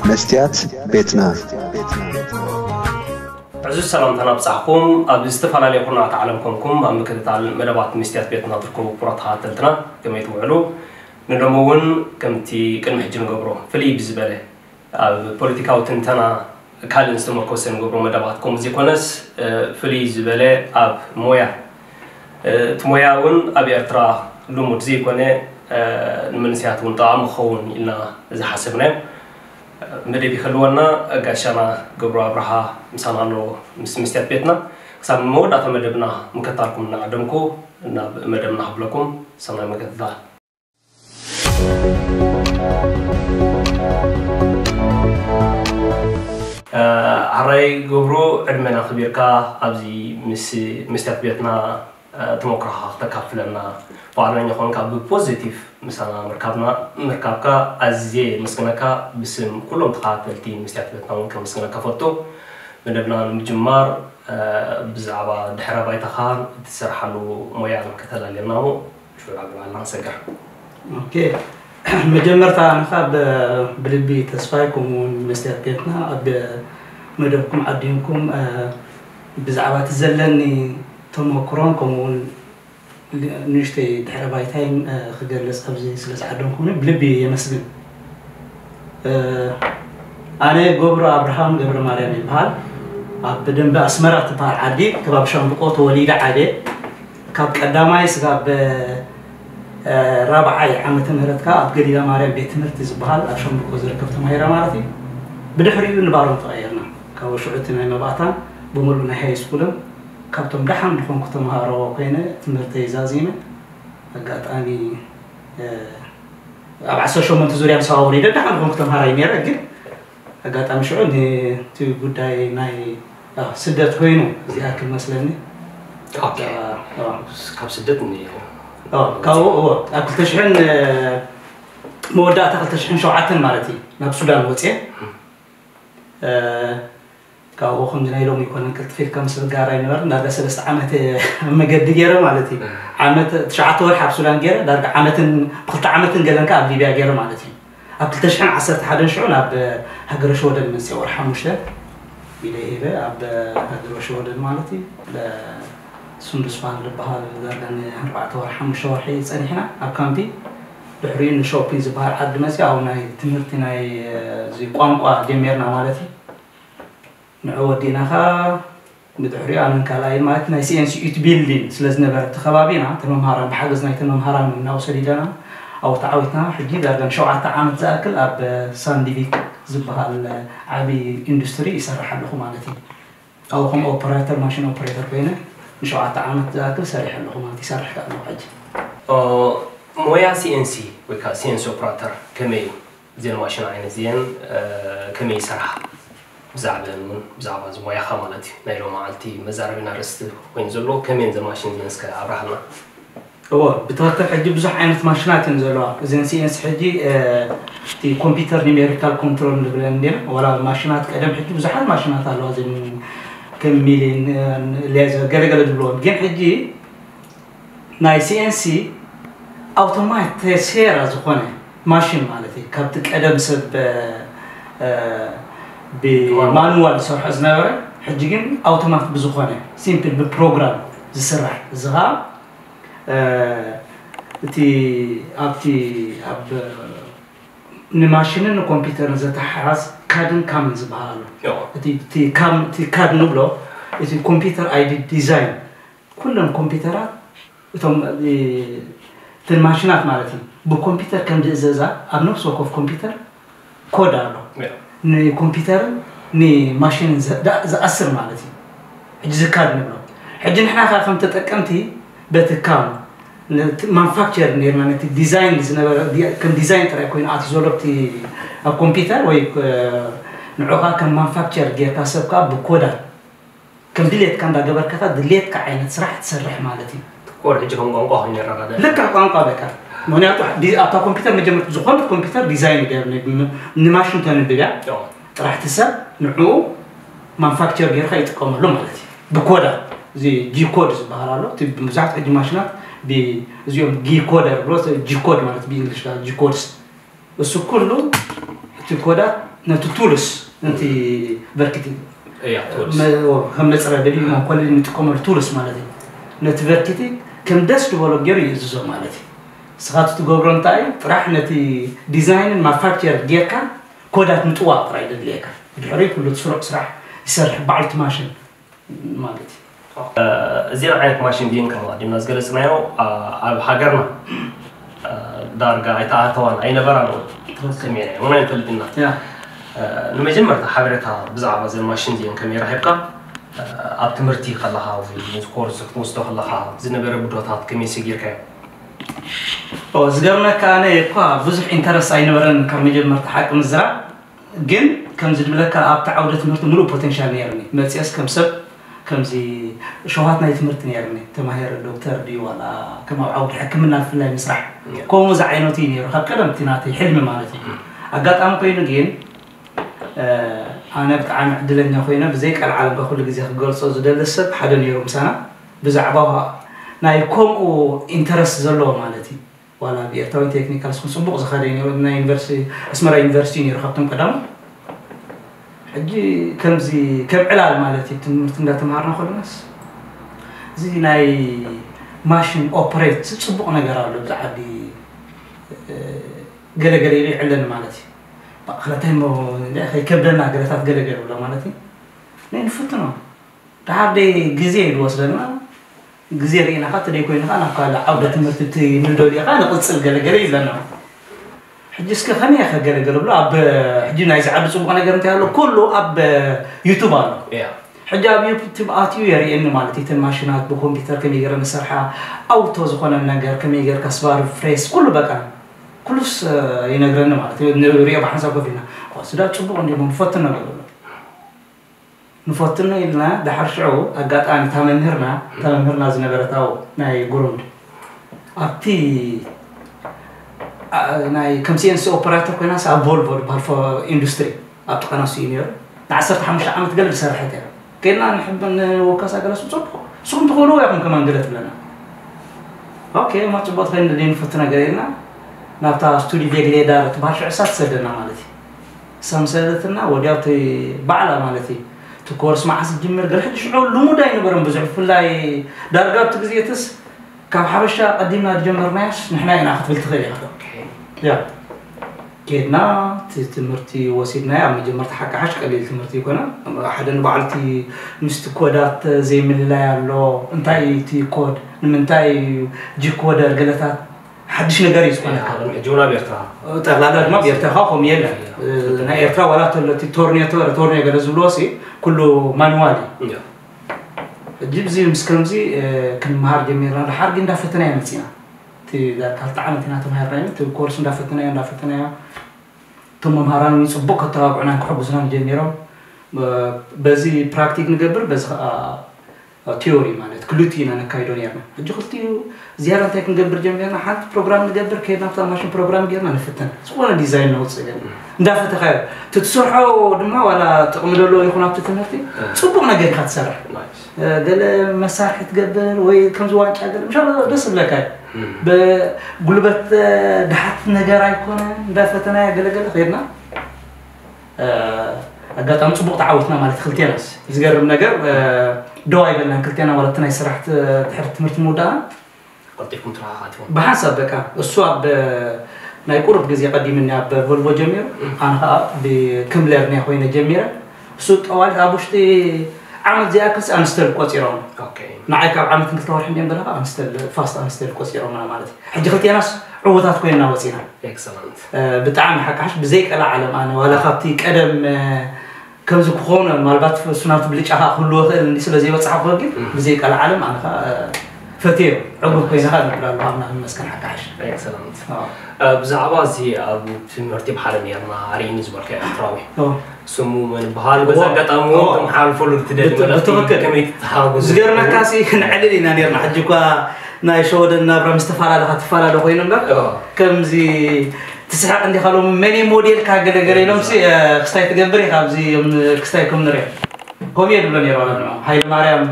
መስትያት ቤትና። ዕዙዝ ሰላምታና ብጻሕኩም ኣብ ዝተፈላለየ ኩርናዓት ዓለም ኮንኩም ኣብ ምክትታል መደባት መስትያት ቤትና ትርከቡ ክቡራት ተኸታተልትና ከመይ ትውዕሉ? ንሎሚ እውን ከምቲ ቅድሚ ሕጂ ንገብሮ ፍልይ ብዝበለ ኣብ ፖለቲካዊ ትንተና ካልእን ዝተመርኮሰ ንገብሮ መደባት ከምኡ ዘይኮነስ ፍልይ ዝበለ ኣብ ሞያ እቲ ሞያ እውን ኣብ ኤርትራ ልሙድ ዘይኮነ ንመንስያት እውን ጠቓሚ ክኸውን ኢልና ዝሓሰብናዮ መደብ ይክልወና። ጋሻና ገብሩ ኣብርሃ ምሳና ኣሎ ምስ መስትያት ቤትና። ክሳብ መወዳእታ መደብና ምክታልኩም እናዓደምኩ ናብ መደብና ክብለኩም ሰናይ ምክትታል። ሓራይ ገብሩ ዕድመና ክቢርካ ኣብዚ ምስ መስትያት ቤትና ተመክሮኻ ክተካፍለና ፍቓደኛ ኮንካ ብፖዚቲቭ ምሳና ምርካብና ምርካብካ ኣዝየ የመስግነካ ብስም ኩሎም ተኸታተልቲ መስትያት ቤትና እውን ከመስግነካ ፈቱ። መደብና ንምጅማር ብዛዕባ ድሕረ ባይታኻን እትሰርሓሉ ሞያን ከተላልየና እሞ ሽዑ ኣግባልና ንሰግር። ኦኬ፣ መጀመርታ ኣነኻ ብልቢ ተስፋይ ከምኡውን መስትያት ቤትና ኣብ መደብኩም ዓዲምኩም ብዛዕባ እቲ ዘለኒ ተመክሮን ከምኡውን ንእሽተይ ድሕረ ባይታይን ክገልፅ ኣብዚ ስለ ዝዓደምኩምኒ ብልቢ የመስግን። ኣነ ገብሩ ኣብርሃም ገብረ ማርያም ይበሃል። ኣብ ደንበ ኣስመራ ትበሃል ዓዲ ከባቢ ሻምብቆ ተወሊደ ዓብየ። ካብ ቀዳማይ ስጋብ ራብዓይ ዓመተ ምህረት ከኣ ኣብ ገሊላ ማርያም ቤት ትምህርቲ ዝበሃል ኣብ ሻምብቆ ዝርከብ ተማሂረ ማለት እዩ። ብድሕሪኡ ንባሮም ተቐየርና። ካብ ሽዑ እቲ ናይ መባእታን ብምሉእ ናይ ሃይ ስኩልን ካብቶም ደሓን ዝኾንኩ ተምሃሮ ኮይነ ትምህርተይ ዛዚመ። ኣጋጣሚ ኣብ ዓሰርተ ሸሞንተ ዙርያ ምስ ኣወሪደ ደሓን ዝኾንኩ ተምሃራይ ነይረ። ግን ኣጋጣሚ ሽዑ ነቲ ጉዳይ ናይ ስደት ኮይኑ እዚኣ ክመስለኒ ካብ ስደት ካብኡ እዎ ኣብ ክልተ ሽሕን መወዳእታ ክልተ ሽሕን ሸውዓተን ማለት እዩ ናብ ሱዳን ወፅየ። ካብኡ ከምዚ ናይ ሎሚ ይኮነን ቅልጥፍ ኢልካ ምስ ብጋራ ይንበር ዳርጋ ሰለስተ ዓመት መገዲ ገይረ ማለት እዩ። ዓመት ትሽዓተ ወርሒ ኣብ ሱዳን ገይረ ዳርጋ ዓመትን ብክልተ ዓመትን ገለንካ ኣብ ሊብያ ገይረ ማለት እዩ። ኣብ ክልተ ሽሕን ዓሰርተ ሓደን ሽዑ ናብ ሃገረ ሽወደን መፅየ ወርሒ ሓሙሽተ ኢለ ሂበ ኣብ ሃገረ ሽወደን ማለት እዩ። ሱንዱስፋን ዝበሃል ዳርጋ ንኣርባዕተ ወርሒ ሓሙሽተ ወርሒ ፀኒሕና ኣብ ካምፒ። ድሕሪኡ ንሾፒን ዝበሃል ዓዲ መፅየ ኣብ ናይ ትምህርቲ ናይ እዚ ቋንቋ ጀሚርና ማለት እዩ። ንዑ ወዲእና ኸዓ ብድሕሪኡ ኣነን ካልኣይን ማለት ናይ ሲኤንሲ ዩት ቢልዲን ስለ ዝነበረ እቲ ከባቢና እተን መምሃራን ብሓገዝ ናይተን መምሃራን እናወሰድ ኢለና ኣብኡ ተዓዊትና ሕጂ ዳርጋ ንሸውዓተ ዓመት ዝኣክል ኣብ ሳንዲቪክ ዝበሃል ዓብዪ ኢንዱስትሪ ይሰርሕ ኣለኹ ማለት እዩ። ኣብኡ ከም ኦፐሬተር ማሽን ኦፐሬተር ኮይነ ንሸውዓተ ዓመት ዝኣክል ሰሪሐ ኣለኹ ማለት ይሰርሕ ከኣ ኣለኹ ሕጂ። ሞያ ሲኤንሲ ወይ ከዓ ሲኤንሲ ኦፕራተር ከመይ እዩ? እዚአን ማሽን ዓይነት እዚአን ከመይ ይሰርሓ? ብዛዕባአን እውን ብዛዕባ እዚ ሞያኻ ማለት እዩ ናይ ሎማዓልቲ መዛረቢና ኣርእስቲ ኮይኑ ዘሎ ከመይ እየን እዘን ማሽን እዚአን እስከ ኣብርሃልና። እወ ብትኽክል ሕጂ ብዙሕ ዓይነት ማሽናት እየን ዘለዋ። እዘን ሲኤንሲ ሕጂ እቲ ኮምፒውተር ኒሜሪካል ኮንትሮል ንብለን እንዲና ዋላ ማሽናት ቀደም ሕጂ ብዙሓት ማሽናት ኣለዋ እዘን ከም ሚሊን ሌዘር ገለገለ ዝብልዎም ግን ሕጂ ናይ ሲኤንሲ ኣውቶማት ሴራ ዝኾነ ማሽን ማለት እዩ። ካብቲ ቀደም ሰብ ብማኑዋል ዝሰርሖ ዝነበረ ሕጂ ግን ኣውቶማት ብዝኾነ ሲምፕል ብፕሮግራም ዝስራሕ እዚ ኸዓ እቲ ኣብቲ ኣብ ንማሽንን ንኮምፒውተርን ዘተሓሓዝ ካድን ካምን ዝበሃል ኣሎ። እቲ ካድ ንብሎ እቲ ኮምፒውተር ኣይዲ ዲዛይን ኩለን ኮምፒውተራት እቶም እተን ማሽናት ማለት እዩ ብኮምፒውተር ከም ዝእዘዛ ኣብ ነፍሲ ወከፍ ኮምፒውተር ኮድ ኣሎ ንኮምፒውተርን ንማሽንን ዝኣስር ማለት እዩ። ሕጂ ዝካድ ንብሎ ሕጂ ንሕና ከዓ ከም ተጠቀምቲ በቲ ካም ማንፋክቸር ኔርና ነቲ ዲዛይን ዝነበረ ከም ዲዛይን ጥራይ ኮይኑ ኣቲ ዘሎ ኣብ ኮምፒውተር ወይ ንዑኻ ከም ማንፋክቸር ጌርካ ሰብ ከዓ ብኮዳት ከም ድሌትካ እንዳገበርካ ድሌትካ ዓይነት ስራሕ ትሰርሕ ማለት እዩ። ኮድ ሕጂ ከም ቋንቋ ኮይኑ ይረዳዳ። ልክዕ ቋንቋ በቃ ምክንያቱ ኣብታ ኮምፒውተር መጀመርት ዝኾነት ኮምፒውተር ዲዛይን ገር ንማሽን ተንብብ እያ ጥራሕቲ ሰብ ንዕኡ ማንፋክቸር ጌርካ ይጥቀመሉ ማለት እዩ። ብኮዳ እዚ ጂ ኮድ ዝበሃል ኣሎ። ብዙሓት ሕጂ ማሽናት እዚኦም ጊ ኮደር ብሎ ጂ ኮድ ማለት ብእንግሊሽ ጂ ኮድስ እሱ ኩሉ እቲ ኮዳት ነቲ ቱልስ ነቲ ቨርክቲ እያ ትወልስ መ- ከም መፅረቢ ድዩ መኮለሊ እንጥቀመሉ ቱልስ ማለት እዩ። ነቲ ቨርክቲ ከም ደስ ዝበሎ ገይሩ ይእዝዞ ማለት እዩ። ንስኻ እቲ ትገብሮ እንታይ እዩ? ጥራሕ ነቲ ዲዛይንን ማፋክቸር ጌርካ ኮዳት ምጥዋቕ ጥራይ ዘድልየካ። ድሕሪ ኩሉ እቲ ስሩዕ ስራሕ ይሰርሕ በዓልቲ ማሽን ማለት እዩ። እዚን ዓይነት ማሽን ቢን ከም ኣቐዲምና ዝገለፅናዮ ኣብ ሃገርና ዳርጋ ኣይተኣተዋን ኣይነበራን እውን ሰሚዕና እውን ኣይንፈልጥና። ያ ንመጀመርታ ሓበሬታ ብዛዕባ እዘን ማሽን እዚአን ከመይ ረኺብካ? ኣብ ትምህርቲ ከለኻ ወይ ነዚ ኮርስ ክትወስዶ ከለኻ ዝነበረ ብድሆታት ከመይ ሰጊርካዮ? ኦ፣ ዝገርመካ ኣነ እኳ ብዙሕ ኢንተረስት ኣይነበረን ካብ መጀመርታ ሓቂ ምዝራብ። ግን ከምዚ ድብለካ ኣብቲ ዓውደ ትምህርቲ ሙሉእ ፖቴንሻል ነይርኒ። መፅየስ ከም ሰብ ከምዚ ሸውሃት ናይ ትምህርቲ ነይርኒ። ተማሂር ዶክተር ድዩ ዋላ ከም ኣብ ዓውዲ ሕክምና ብፍላይ ምስራሕ ከምኡ ዝዓይነቱ እዩ ነይሩ። ካብ ቀደም እቲ ናተይ ሕልሚ ማለት እዩ። ኣጋጣሚ ኮይኑ ግን ኣነ ብጣዕሚ ዕድለኛ ኮይነ ብዘይ ቀልዓለም ኩሉ ግዜ ክገልፆ ዝደሊ ሰብ ሓደ ነይሩ ምሳና ብዛዕባ ናይ ከምኡ ኢንተረስት ዘለዎ ማለት እዩ። ዋላ ብኤርትራዊ ቴክኒካል ስኩል ፅቡቕ ዝኸደ እዩ ነይሩ። ናይ ዩኒቨርሲቲ ኣስመራ ዩኒቨርሲቲ ነይሩ ካብቶም ቀዳሙ። ሕጂ ከምዚ ከም ዕላል ማለት እዩ ትምህርቲ እንዳተምሃርና ከለናስ እዚ ናይ ማሽን ኦፕሬት ፅቡቕ ነገር ኣሎ ብዛዕዲ ገለገለ ኢሉ ይዕለኒ ማለት እዩ። ባዕኸለታይ ሞ ከይከብደና ገለታት ገለገለ ብሎ ማለት እዩ። ናይ ንፍትኖ ድሓር ደይ ግዜ እዩ ዝወስደና። ግዜ ርኢና ካ ተደይ ኮይንካ ናብ ካልእ ዓውደ ትምህርቲ እቲ ንደልዮ ካ ንቕፅል ገለገለ ይብለና። ሕጂ እስከ ከመይ ከገለገለ ብሎ ኣብ ሕጂ ናይዚ ዓዲ ፅቡቕ ነገር እንታይ ኣሎ ኩሉ ኣብ ዩቱብ ኣሎ። ሕጂ ኣብ ዩቱብ ኣትዩ የርእየኒ ማለት እዩ። እተን ማሽናት ብኮምፒውተር ከመይ ገይረ ንሰርሓ ኣውቶ ዝኾነ ነገር ከመይ ገይርካ ስባር ፍሬስ ኩሉ በቃ ኩሉስ ይነግረኒ ማለት እዩ። ንሪኦ ብሓንሳብ ኮፍ ኢልና ስዳ ፅቡቕ እንዲሞ ንፈትን ነገር ኣሎ ንፈትኖ ኢልና ድሓር ሽዑ ኣጋጣሚ እታ መምህርና እታ መምህርና ዝነበረት ኣብኡ ናይ ጉሩንድ ኣብቲ ኣ- ናይ ከም ሲኤንሲ ኦፐራተር ኮይናስ ኣብ ቮልቮ ዝበሃል ፎ- ኢንዱስትሪ ኣብ ጥቃና ሱ እዩ ነይሩ። ንዓሰርተ ሓሙሽተ ዓመት ገለ ዝሰርሐት እያ። ከይድና ንሕብ ንወከሳ ገለ ሱ ፅቡቅ ንስኹም ትኽእልዎ ኢኹም ከማን ገለ ትብለና። ኦኬ እማ ፅቡቅ ትኸይድ ንደይ ንፈቲ ነገር ኢልና ናብታ ስቱዲ ቬግሌዳር ትበሃል ሽዑ እሳ ትሰደና ማለት እዩ። ሰምሰለትና ወዲያው እቲ ባዕላ ማለት እዩ እቲ ኮርስ መዓስ ዝጅምር ገለ ሕጂ ሽዑ ልሙድ ኣይነበረን ብዙሕ ብፍላይ ዳርጋ ኣብቲ ግዜ እትስ ካብ ሓበሻ ቀዲምና ዝጀመርናያስ ንሕና ኢና ክትብል ትኽእል ኢኻ። ያ ኬድና እቲ ትምህርቲ ወሲድናዮ ኣብ መጀመርታ ሓቂ ሓሽ ቀሊል ትምህርቲ ይኮነ ሓደ ንባዕልቲ ምስቲ ኮዳት ዘይምልላይ ኣሎ እንታይ እዩ እቲ ኮድ ንምንታይ እዩ ጂኮደር ገለታት ሓድሽ ነገር እዩ ዝኾነካ። ሕጂ እውን ኣብ ኤርትራ ጠቕላላ ድማ ብኤርትራ ካ ከምኡ የለን። ናይ ኤርትራ ዋላ ተሎ እቲ ቶርኔቶ ቶርኔ ገለ ዝብልዎ ሲ ኩሉ ማንዋል እዩ። ሕጂ ብዚ ምስ ከምዚ ክንመሃር ጀሚርና ድሓር ግን እንዳፈተና ኢና መፂና። እቲ ዳርካ ክልተ ዓመት ኢና ተማሂርና ኢና እቲ ኮርስ እንዳፈተናዮ እንዳፈተናዮ እቶም መምሃራን እውን ፅቡቅ ከተባብዑናን ክሕግዙናን ጀሚሮም። በዚ ፕራክቲክ ንገብር በዚ ከዓ ቲዮሪ ማለት ክልቲኡ ኢና ነካይዶ ነርና። ሕጂ ክልቲኡ ዝያዳ እንታይ ክንገብር ጀሚርና? ሓንቲ ፕሮግራም ንገብር ከይድና ኣብታ ማሽን ፕሮግራም ጌርና ንፍትን ዝኾነ ዲዛይን ነውፅእ ገለ እንዳፈተኻዮ እቲ ትሰርሖ ድማ ዋላ ጥቕሚ ደለዎ ይኹን ኣብቲ ትምህርቲ ፅቡቕ ነገር ኢኻ ትሰርሕ። ገለ መሳርሒ ትገብር ወይ ከምዚ ዋንጫ ገለ ምሻ ደስ ዝብለካ እዩ። ብጉልበት ድሓት ነገር ኣይኮነ እንዳፈተናዮ ገለገለ ከይድና ኣጋጣሚ ፅቡቅ ተዓወትና ማለት ክልቴና ዝገርም ነገር ደው ኣይበልናን ክልቴና ማለት ናይ ስራሕ ድሕሪ ትምህርቲ ምውዳእና ቀልጢፍኩም ተረኻኻትኩም ብሓንሳብ በቃ እሱ ኣብ ናይ ቁሩብ ግዜ ቀዲምኒ ኣብ ቮልቮ ጀሚሩ ኣነ ከዓ ብክምለር ናይ ኮይነ ጀሚረ እሱ ጠዋሊት ኣብ ውሽጢ ዓመት ዝኣክል ኣንስተል ቆፂሮም ንዓይ ካብ ዓመት ክልተ ወርሒ እንዲኦም ዘለካ ኣንስተል ፋስት ኣንስተል ቆፂሮምና ማለት እዩ ሕጂ ክልቴናስ ዕዉታት ኮይንና ወፂና ኤክሰለንት ብጣዕሚ ሓቃሽ ብዘይ ቀላ ዓለም ኣነ ዋላ ካብቲ ቀደም ከምዚ ክኾኑ ምናልባት እሱ ናብቲ ብልጫ ከዓ ክህልዎ ክእል እንዲ ስለ ዘይበፅሓ ክኾን ግን ብዘይ ቀላ ዓለም ኣነ ከዓ ፈትዮ ዕጉብ ኮይነ ከዓ ነብር ኣለኹ ኣምላኽ ይመስገን ሓቃሽ ኤክሰለንት ብዛዕባ እዚ ኣብ ትምህርቲ ብሓደ ነርና ኣርእኒ ዝበልካ ኤርትራዊ ስሙ መን በሃል በዚ ኣጋጣሚ እውን ተመሓላልፈሉ ትደሊ ብትኽክል። ከመይ ትተሓጋገዙ ዝገርመካ ሲ ንዕልል ኢና ነርና ሕጂ እኳ ናይ ሸወደን ናብራ ምስ ተፈላለኻ ትፈላለ ኮይኑ እምበር ከምዚ ትስሕቕ እንዲኻ ሎም መን እዩ ሞዴልካ ገለገለ ኢሎም ሲ ክስታይ ትገብር ኢኻ ኣብዚ ክስታይ ከም ንሪኦ ከምኡ እየ ድብሎ ነይሩ ዋላ ንዑ ሃይለ ማርያም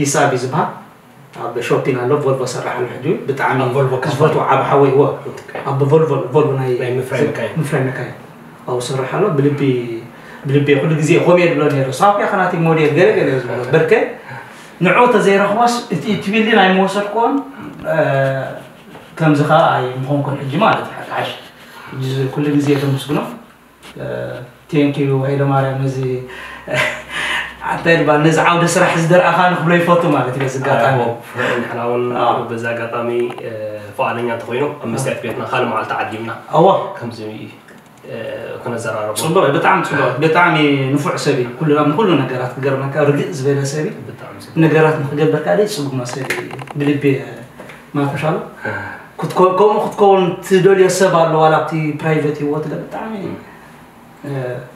ይስኣብ እዩ ዝበሃል ኣብ ሾፒን ኣሎ ቮልቮ ሰራሕ ኣሎ ሕጂ ብጣዕሚ ኣብ ቮልቮ ዝፈትዎ ዓብ ሓወይ እዎ ኣብ ቮልቮ ቮልቮ ናይ ናይ ምፍራይ መካይን። ምፍራይ መካይን ኣብኡ ዝሰርሕ ኣሎ። ብልቢ ብልቢ ኩሉ ግዜ ከምኡ እየ ዝብሎ ነይረ። ሳብ ያኸ ናተይ ሞዴል ገለ ገለ እየ ዝብሎ። በርከ ንዕኡ ተዘይረኽቦስ እቲ ትቢሊ ናይ ምወሰድክዎን ከምዚ ኸዓ ኣይምኾንኩን ሕጂ ማለት እዩ። ሓቂ ሓቂ ኩሉ ግዜ ተመስግኖ። ቴንኪዩ ሃይለማርያም፣ ነዚ እንታይ ድባል ነዚ ዓውደ ስራሕ ዝደርኣኻ ንክብሎ ይፈቱ ማለት እዩ። በዚ ኣጋጣሚ ንሕና እውን በዚ ኣጋጣሚ ፍቓደኛ እንተኮይኑ ኣብ መስትያት ቤትና ካልእ መዓልቲ ዓዲምና እዋ ከምዚ ክነዘራረቦ። ፅቡቅ እዩ፣ ብጣዕሚ ፅቡቅ፣ ብጣዕሚ ንፉዕ ሰብ እዩ። ኩሉ ኣብ ኩሉ ነገራት ክገርመካ ርግእ ዝበለ ሰብ እዩ። ብጣዕሚ ጽቡቅ። ነገራት ንክገብር ከዓ ደይ ፅጉማ ሰብ እዩ። ብልቢ ማተሻሎ ክትኮ- ከምኡ ክትከውን ትደልዮ ሰብ ኣሎ ዋላ ኣብቲ ፕራይቬት ህይወት ገ ብጣዕሚ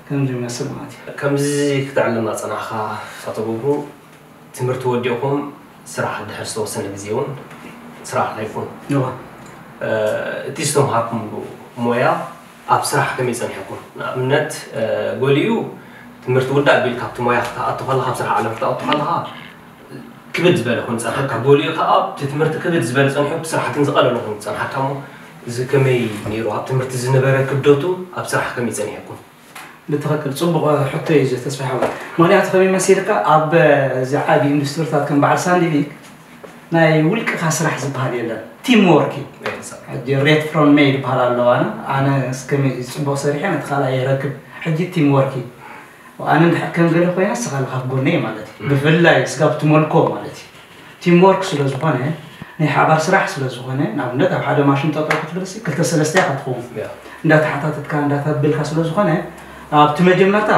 ከምዚ ይመስል ማለት እዩ። ከምዚ ክተዕልና ጸናሕካ ኣቶ ገብሩ፣ ትምህርቲ ወዲእኩም ስራሕ ድሕር ዝተወሰነ ግዜ እውን ስራሕ ኣይኮን እዋ እቲ ዝተምሃርኩምሉ ሞያ ኣብ ስራሕ ከመይ ጸኒሕኩም? ንኣብነት ገሊኡ ትምህርቲ ውዳእ ኣቢልካ ኣብቲ ሞያ ክትኣቱ ከለካ ኣብ ስራሕ ዓለም ክትኣቱ ከለካ ክብድ ዝበለ ኮን ጸንሓካ፣ ገሊኡ ከዓ ኣብቲ ትምህርቲ ክብድ ዝበለ ጸኒሑ ኣብቲ ስራሕ ግን ዝቐለለ ኮይኑ ጸንሓካ እሞ እዚ ከመይ ነይሩ? ኣብ ትምህርቲ ዝነበረ ክብደቱ ኣብ ስራሕ ከመይ ጸኒሕኩም? ብትኽክል ጽቡቕ ሕቶ እዩ እዚ ተስፋ ሓወይ። ምኽንያቱ ከመይ መሲልካ ኣብ እዚ ዓቢ ኢንዱስትሪታት ከም በዓል ሳንዲቪክ ናይ ውልቅኻ ስራሕ ዝበሃል የለን፣ ቲም ወርክ እዩ። ሕጂ ሬት ፍሮም ሜይ ዝበሃል ኣለዋ። ኣነ ኣነ ከመይ ጽቡቕ ሰሪሐ ነቲ ካልኣይ የረክብ። ሕጂ ቲም ወርክ እዩ። ኣነ እንድሕር ከም ገለ ኮይነ ንስኻ ኣለኻ ኣብ ጎነይ ማለት እዩ። ብፍላይ ስጋብ ትመልኮ ማለት እዩ። ቲም ወርክ ስለ ዝኾነ ናይ ሓባር ስራሕ ስለ ዝኾነ ንኣብነት ኣብ ሓደ ማሽን ጠጠው ክትብል ሲ ክልተ ሰለስተ ኢኻ ትኸውን እንዳተሓታተትካ እንዳተብልካ ስለ ዝኾነ ኣብቲ መጀመርታ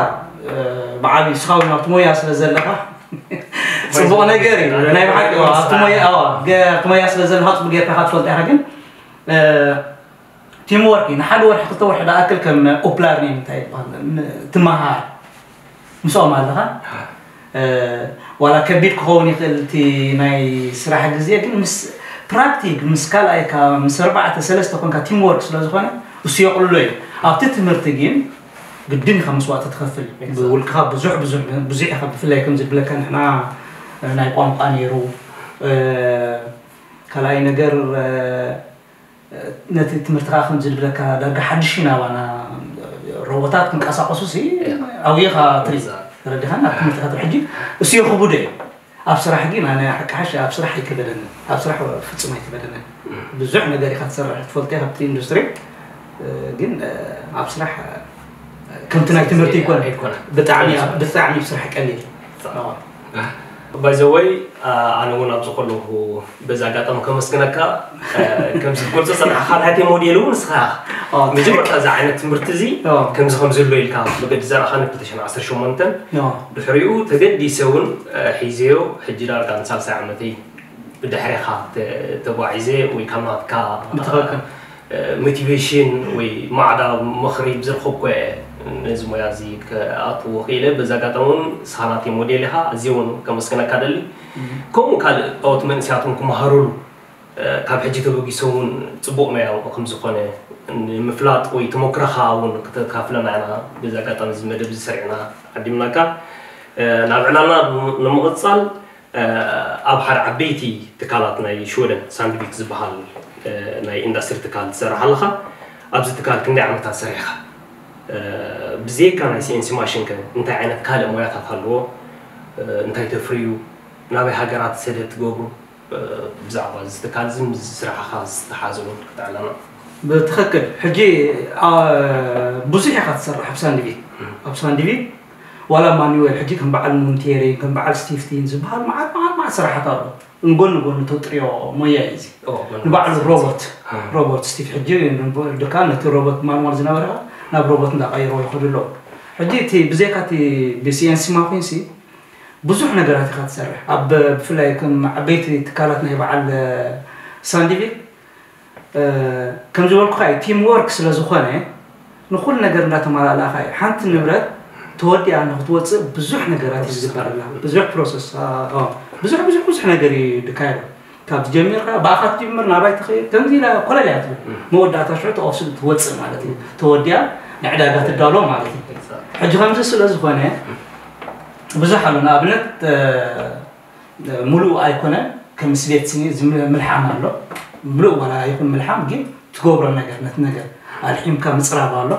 ብዓብዩ ስኻ እውን ኣብቲ ሞያ ስለ ዘለኻ ፅቡቕ ነገር እዩ ናይ ብሓቂ ኣብቲ ሞያ ስለ ዘለኻ ፅቡቅ ጌርካ ትፈልጦ ኢኻ ግን ቲም ወርክ እዩ። ንሓደ ወርሒ ክልተ ወርሒ ዝኣክል ከም ኦፕላርኒን እንታይ ይበሃል ትመሃር ምስኦም ኣለኻ። ዋላ ከቢድ ክኸውን ይኽእል እቲ ናይ ስራሕ ግዜ ግን ምስ ፕራክቲክ ምስ ካልኣይካ ምስ ኣርባዕተ ሰለስተ ኮንካ ቲም ወርክ ስለ ዝኾነ እሱ የቕልሎ እዩ። ኣብቲ ትምህርቲ ግን ግድን ኢኻ መስዋእቲ ትኸፍል። ብውልቅኻ ብዙሕ ብዙሕ ብዙሕ ኢኻ ብፍላይ ከም ዝብለካ ንሕና ናይ ቋንቋ ነይሩ ካልኣይ ነገር ነቲ ትምህርቲ ከዓ ከምዚ ዝብለካ ዳርጋ ሓድሽ እዩ ናባና ሮቦታት ክንቀሳቀሱ ሲ ዓብይኻ ትሪ ተረዲኻ ናብ ትምህርቲ ከትሪ ሕጂ እሱ የኽቡደ እዩ ኣብ ስራሕ ግን ኣነ ሓቂ ሓሽ ኣብ ስራሕ ኣይከበደንን ኣብ ስራሕ ፍጹም ኣይከበደንን ብዙሕ ነገር ኢኻ ትሰርሕ ትፈልጦ ካብቲ ኢንዱስትሪ ግን ኣብ ስራሕ ከምቲ ናይ ትምህርቲ ይኮነ ብጣዕሚ ብጣዕሚ ስራሕ ቀሊል ባይዘወይ ኣነ እውን ኣብዚ ከለኹ በዚ ኣጋጣሚ ከመስግነካ ከምዚ ትገልፆ ፀናሕካ ናተይ ሞዴል እውን ንስኻ መጀመርታ እዚ ዓይነት ትምህርቲ እዚ ከምዚ ከም ዘሎ ኢልካ መገዲ ዘርኣኻኒ ክልተ ሽሕን ዓሰርተ ሸሞንተን ድሕሪኡ ተገዲሰ እውን ሒዘዮ ሕጂ ዳርጋ ንሳልሳይ ዓመተይ ብድሕሪኻ ተጓዒዘ ወይ ካብ ናትካ ሞቲቬሽን ወይ ማዕዳ ምኽሪ ብዝረኸብኩ እየ ነዚ ሞያ እዚ ክኣትዎ ክኢለ። በዚ ኣጋጣሚ እውን ንስኻ ናተይ ሞዴል ኢኻ፣ ኣዝየ እውን ከመስግነካ ደሊ። ከምኡ ካልኦት መንእሰያት እውን ክመሃሩሉ ካብ ሕጂ ተበጊሶም እውን ፅቡቕ ሞያ ከምዝኾነ ንምፍላጥ ወይ ተመክሮኻ እውን ክተካፍለና ኢና በዚ ኣጋጣሚ እዚ መደብ እዚ ሰሪዕና ዓዲምናካ። ናብ ዕላልና ንምቕፃል ኣብ ሓደ ዓበይቲ ትካላት ናይ ሽወደን ሳንድቪክ ዝበሃል ናይ ኢንዳስትሪ ትካል ትሰርሕ ኣለኻ። ኣብዚ ትካል ክንደይ ዓመታት ሰሪሕኻ? ብዘይካ ናይ ሲኤንሲ ማሽን ከ እንታይ ዓይነት ካልእ ሞያታት ኣለዎ? እንታይ ተፍርዩ? ናበይ ሃገራት ሰደድ ትገብሩ? ብዛዕባ እዚ ትካል እዚ ምስ ስራሕኻ ዝተሓዘ እውን ክትዕለና። ብትኽክል ሕጂ ብዙሕ ኢኻ ትሰርሕ ኣብ ሳንድቪክ ኣብ ሳንድቪክ ዋላ ማኑዌል ሕጂ ከም በዓል ሞንቴሪ ከም በዓል ስቲፍቲን ዝበሃል መዓት መዓት መዓት ስራሓት ኣሎ ንጎኒ ጎኒ ተጥርዮ ሞያ እዩ እዚ ንባዕሉ ሮቦት ሮቦት ስቲፍ ሕጂ ድካ ነቲ ሮቦት ማንዋል ዝነበረ ናብ ሮቦት እንዳቀይሮ ይኸዱ ኣለዉ ሕጂ እቲ ብዘይካ እቲ ብሲኤንሲ ማኩንሲ ብዙሕ ነገራት ኢኻ ትሰርሕ ኣብ ብፍላይ ከም ዓበይቲ ትካላት ናይ በዓል ሳንዲቪክ ከም ዝበልኩኻ እዩ ቲም ወርክ ስለ ዝኾነ ንኹሉ ነገር እንዳተማላለእኻ እዩ ሓንቲ ንብረት ተወዲኣ ንክትወፅእ ብዙሕ ነገራት እዩ ዝግበረላ ብዙሕ ፕሮሰስ ብዙሕ ብዙሕ ብዙሕ ነገር እዩ ድካየዶ ካብ ጀሚርካ ብኣኻ ትጅምር ናባይ ትኸይድ ከምዚ ኢላ ኮለል እያ ትብል መወዳእታ ሽዑ ተቐፍስል ትወፅእ ማለት እዩ ተወዲኣ ንዕዳጋ ትዳሎ ማለት እዩ ሕጂ ከምዚ ስለ ዝኾነ ብዙሕ ኣሎ ንኣብነት ሙሉእ ኣይኮነን ከም ስቤት ስኒ ምልሓም ኣሎ ምሉእ ዋላ ይኹን ምልሓም ግን ትገብሮ ነገር ነቲ ነገር ኣልሒምካ ምፅራብ ኣሎ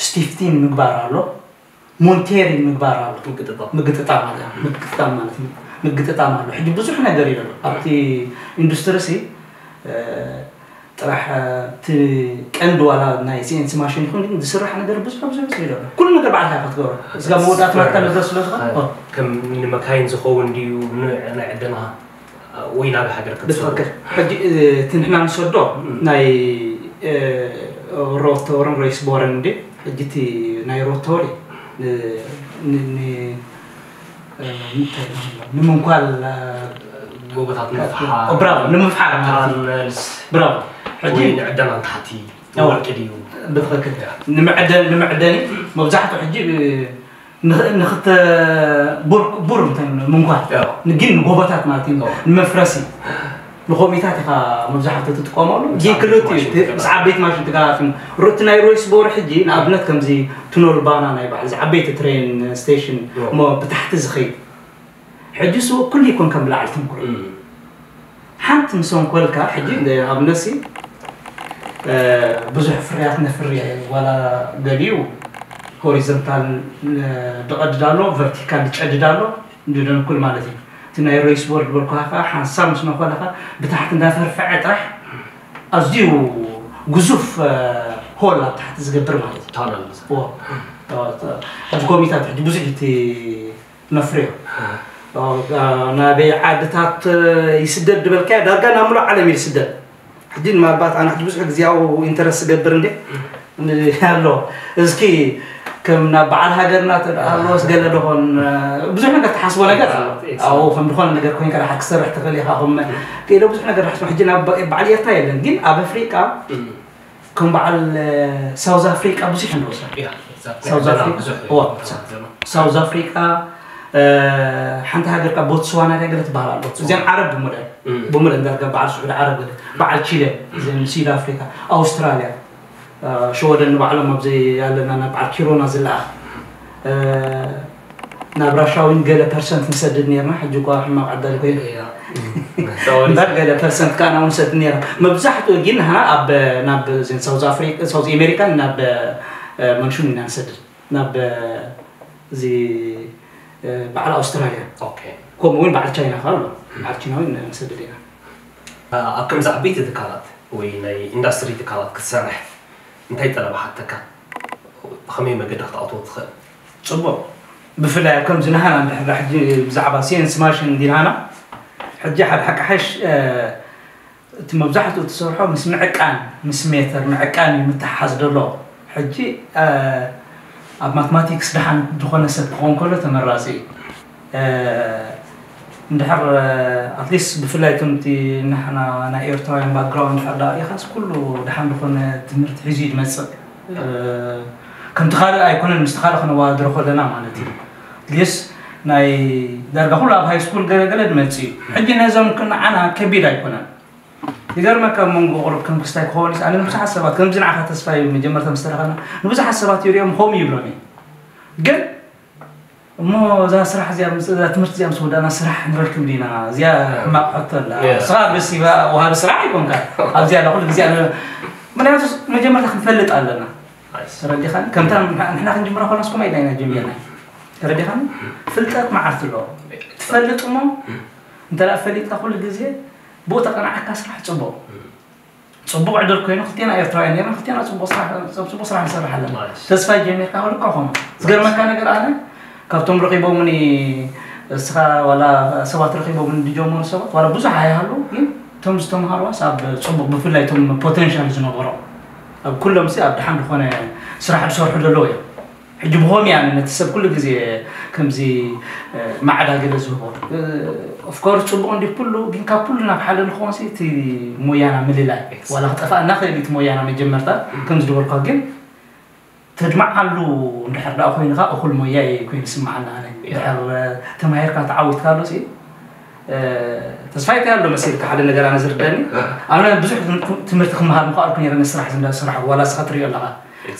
ስቲፍቲን ምግባር ኣሎ፣ ሞንቴሪን ምግባር ኣሎ። ምግጥጣም ምግጥጣም ማለት ምግጥጣም ማለት ምግጥጣም ኣሎ። ሕጂ ብዙሕ ነገር እዩ ዘሎ ኣብቲ ኢንዱስትሪ ሲ ጥራሕ እቲ ቀንዲ ዋላ ናይ ሲኤንሲ ማሽን ይኹን ግን ዝስራሕ ነገር ብዙሕ ብዙሕ ብዙሕ ይደሎ ኩሉ ነገር ባዕልካ ክትገብሮ እዚጋ መወዳእታ ናትካ ነገር ስለ ዝኾነ ከም ንመካይን ዝኸውን ድዩ ናይ ዕደና ወይ ናብ ሃገር ክትሰዶ ብትኽክል ሕጂ እቲ ንሕና ንሰዶ ናይ ሮተርን ሬስ ቦረን እንዴ ሕጂ እቲ ናይ ሮተሪ ንምንኳል ጎቦታት ምፍሓር ብራቮ ንምፍሓር ታነልስ ብራቮ ሕጂ ወይ ንዕደና ንታሕቲ ወርቂ ድዩ ብትኽክል ንምዕደን ንምዕደኒ መብዛሕትኡ ሕጂ ንኽተ ቡር ቡር እንታይ ምንኳን ግን ንጎቦታት ማለት እዩ ንመፍረሲ ንኮሚታት ኢኻ መብዛሕትኡ ትጥቀመሉ ግን ክልቲኡ ምስ ዓበይቲ ማሽን ትጋራትን ሩቲ ናይ ሮይስ ቦር ሕጂ ንኣብነት ከምዚ ቱኖል ባና ናይ ባዕል ዓበይቲ ትሬን ስቴሽን እሞ ብታሕቲ ዝኸይድ ሕጂ ስዎ ኩሉ ይኮን ከም ብላዕሊ ትንኩር ሓንቲ ምስ ኣንኮልካ ሕጂ ኣብነሲ ብዙሕ ፍርያት ነፍሪ ዋላ ገሊኡ ሆሪዞንታል ድቐድድ ኣሎ ቨርቲካል ድጨድድ ኣሎ ድደንኩል ማለት እዩ እቲ ናይ ሮይስ ቦርድ በልኩሃ ከዓ ሓንሳብ ምስ ነኮለካ ብታሕቲ እንዳፈርፈዐ ጥራሕ ኣዝዩ ግዙፍ ሆል ኣብ ታሕቲ ዝገብር ማለት እዩ ታነል ሕጂ ኮሚታት ሕጂ ብዙሕ እቲ ነፍርዮ ናበይ ዓድታት ይስደድ ዝበልካዮ ዳርጋ ናብ ሙሉእ ዓለም እዩ ዝስደድ ሕጂ ምናልባት ኣነ ሕጂ ብዙሕ ግዜያዊ ኢንተረስት ዝገብር እንዴ ኣሎ እስኪ ከም ናብ በዓል ሃገርና ተደኣሎስ ገለ ደኾን ብዙሕ ነገር ትሓስቦ ነገር ኣሎ ኣብኡ ከም ዝኾነ ነገር ኮይንካ ደሓር ክሰርሕ ትኽእል ኢኻ ከም ኢለ ብዙሕ ነገር ሓስቦ ሕጂ ናብ በዓል ኤርትራ የለን ግን ኣብ ኣፍሪቃ ከም በዓል ሳውዝ ኣፍሪቃ ብዙሕ ንረሳ ሳውዝ ኣፍሪቃ ሓንቲ ሃገር ካብ ቦትስዋና ዳገለ ትበሃል ኣሎ እዚኣን ዓረብ ብምልአን ብምልአን ዳርጋ በዓል ስዑድ ዓረብ ገለ በዓል ቺለ እዚን ስዩድ ኣፍሪካ ኣውስትራልያ ሸወደን ንባዕሎም ኣብዚ ኣለና ናብ በዓል ኪሮና ዝለኣኽ ናብ ራሻዊን ገለ ፐርሰንት ንሰድድ ነርና ሕጂ እኳ ሕማቕ ዓዳል ኮይኑ እምበር ገለ ፐርሰንት ከዓ ናብኡ ንሰድድ ነርና መብዛሕትኡ ግን ንሕና ኣብ ናብ ሳውዝ ኣፍሪካ ሳውዝ ኣሜሪካን ናብ መንሹን ኢና ንሰድድ ናብ እዚ በዓል ኣውስትራልያ ከምኡ እውን በዓል ቻይና ከዓ ኣሎ በዓል ቻይና እውን ንሰድድ ኢና ኣብ ከምዚ ዓበይቲ ትካላት ወይ ናይ ኢንዳስትሪ ትካላት ክትሰርሕ እንታይ ጠለብ ሓተካ ብኸመይ መገዲ ክትኣትዎ ትኽእል ፅቡቕ ብፍላይ ኣብ ከምዚ ናህና እንድሕር ሕጂ ብዛዕባ ሲንስ ማሽን እንዲናና ሕጂ ሓደ ሓቂ ሓሽ እቲ መብዛሕትኡ ትሰርሖ ምስ ምዕቃን ምስ ሜተር ምዕቃን እዩ ምትሓዝ ዘሎ ሕጂ ኣብ ማትማቲክስ ደሓን ዝኾነ ሰብ ክኸውን ከሎ ተመራፂ እዩ እንድሕር ኣትሊስት ብፍላይ ከምቲ ንሕና ናይ ኤርትራውያን ባክግራውንድ እንድሕር ዳ ኢኻስ ኩሉ ደሓን ዝኾነ ትምህርቲ ሒዙ እዩ ዝመፅእ ከምቲ ካልእ ኣይኮነን ምስቲ ካልእ ክነዋዳድሮ ከለና ማለት እዩ ሊስ ናይ ዳርጋ ኩሉ ኣብ ሃይ ስኩል ገለገለ ዝመፅእ እዩ ሕጂ ነዞም ክንዓና ከቢድ ኣይኮነን ይገርመካ ኣብ መንጎ ቁሩብ ከም ክስታይ ክኸውን ኣነ ንብዙሓት ሰባት ከምዚ ንዓኻ ተስፋ እዩ መጀመርታ ምስ ተረኸብና ንብዙሓት ሰባት ይሪኦም ከምኡ ይብሎም እዩ ግን እሞ እዛ ስራሕ እዚኣ እዛ ትምህርቲ እዚኣ ምስ ወዳእና ስራሕ ንረክብ ዲና እዚኣ ሕማቕ ሕቶ ኣላ ስኻ ብስ ወሃቢ ስራሕ ኣይኮንካ ኣብዚኣ ኣላ ኩሉ ግዜ ምክንያቱ መጀመርታ ክንፈልጥ ኣለና ተረዲኻኒ ከምታ ንሕና ክንጅምራ ኮና ስኮማ ኢልና ኢና ጀሚርና ተረዲኻኒ ፍልጠት መዓልቲ ኣለዎ ትፈልጥ እሞ እንተ ፈሊጥካ ኩሉ ግዜ ብኡ ተቐናዓካ ስራሕ ፅቡቕ ፅቡቕ ዕድል ኮይኑ ክልቴና ኤርትራውያን ኔርና ክልቴና ፅቡቕ ስራሕ ፅቡቕ ስራሕ ንሰርሕ ኣለና ተስፋ ጀሚርካ ከልካ ኾኑ ዝገርመካ ነገር ኣነ ካብቶም ረኺቦምኒ እስኻ ዋላ ሰባት ረኺቦምኒ ዝጀመሩ ሰባት ዋላ ብዙሕ ኣይሃሉ ግን እቶም ዝተምሃሩዋስ ኣብ ፅቡቕ ብፍላይ እቶም ፖቴንሻል ዝነበሮም ኣብ ኩሎም ሲ ኣብ ድሓን ዝኾነ ስራሕ ዝሰርሑ ዘለዉ እዮም ሕጂ ብኾም እያ ነቲ ሰብ ኩሉ ግዜ ከምዚ ማዕዳ ገለ ዝህቦ ኦፍኮርስ ፅቡቅ እንዲ ኩሉ ግን ካብ ኩሉ ናብ ሓደ ንኸውን ሲ እቲ ሞያና ምልላይ ዋላ ክጠፋእና ክእል እቲ ሞያና መጀመርታ ከም ዝድበልኳ ግን ተድማዓሉ እንድሕር ደኣ ኮይንካ እኹል ሞያ እዩ ኮይኑ ስማዓና ኣነ ድሕር ተማሂርካ ተዓዊትካ ኣሎ ሲ ተስፋ ይታይ ኣሎ መሲልካ ሓደ ነገር ኣነ ዝርደኒ ኣነ ብዙሕ ትምህርቲ ክመሃር ምኽኣልኩ ነረ ንስራሕ ዝንዳ ስራሕ ዋላ ስኻ ትሪኦ ኣለኻ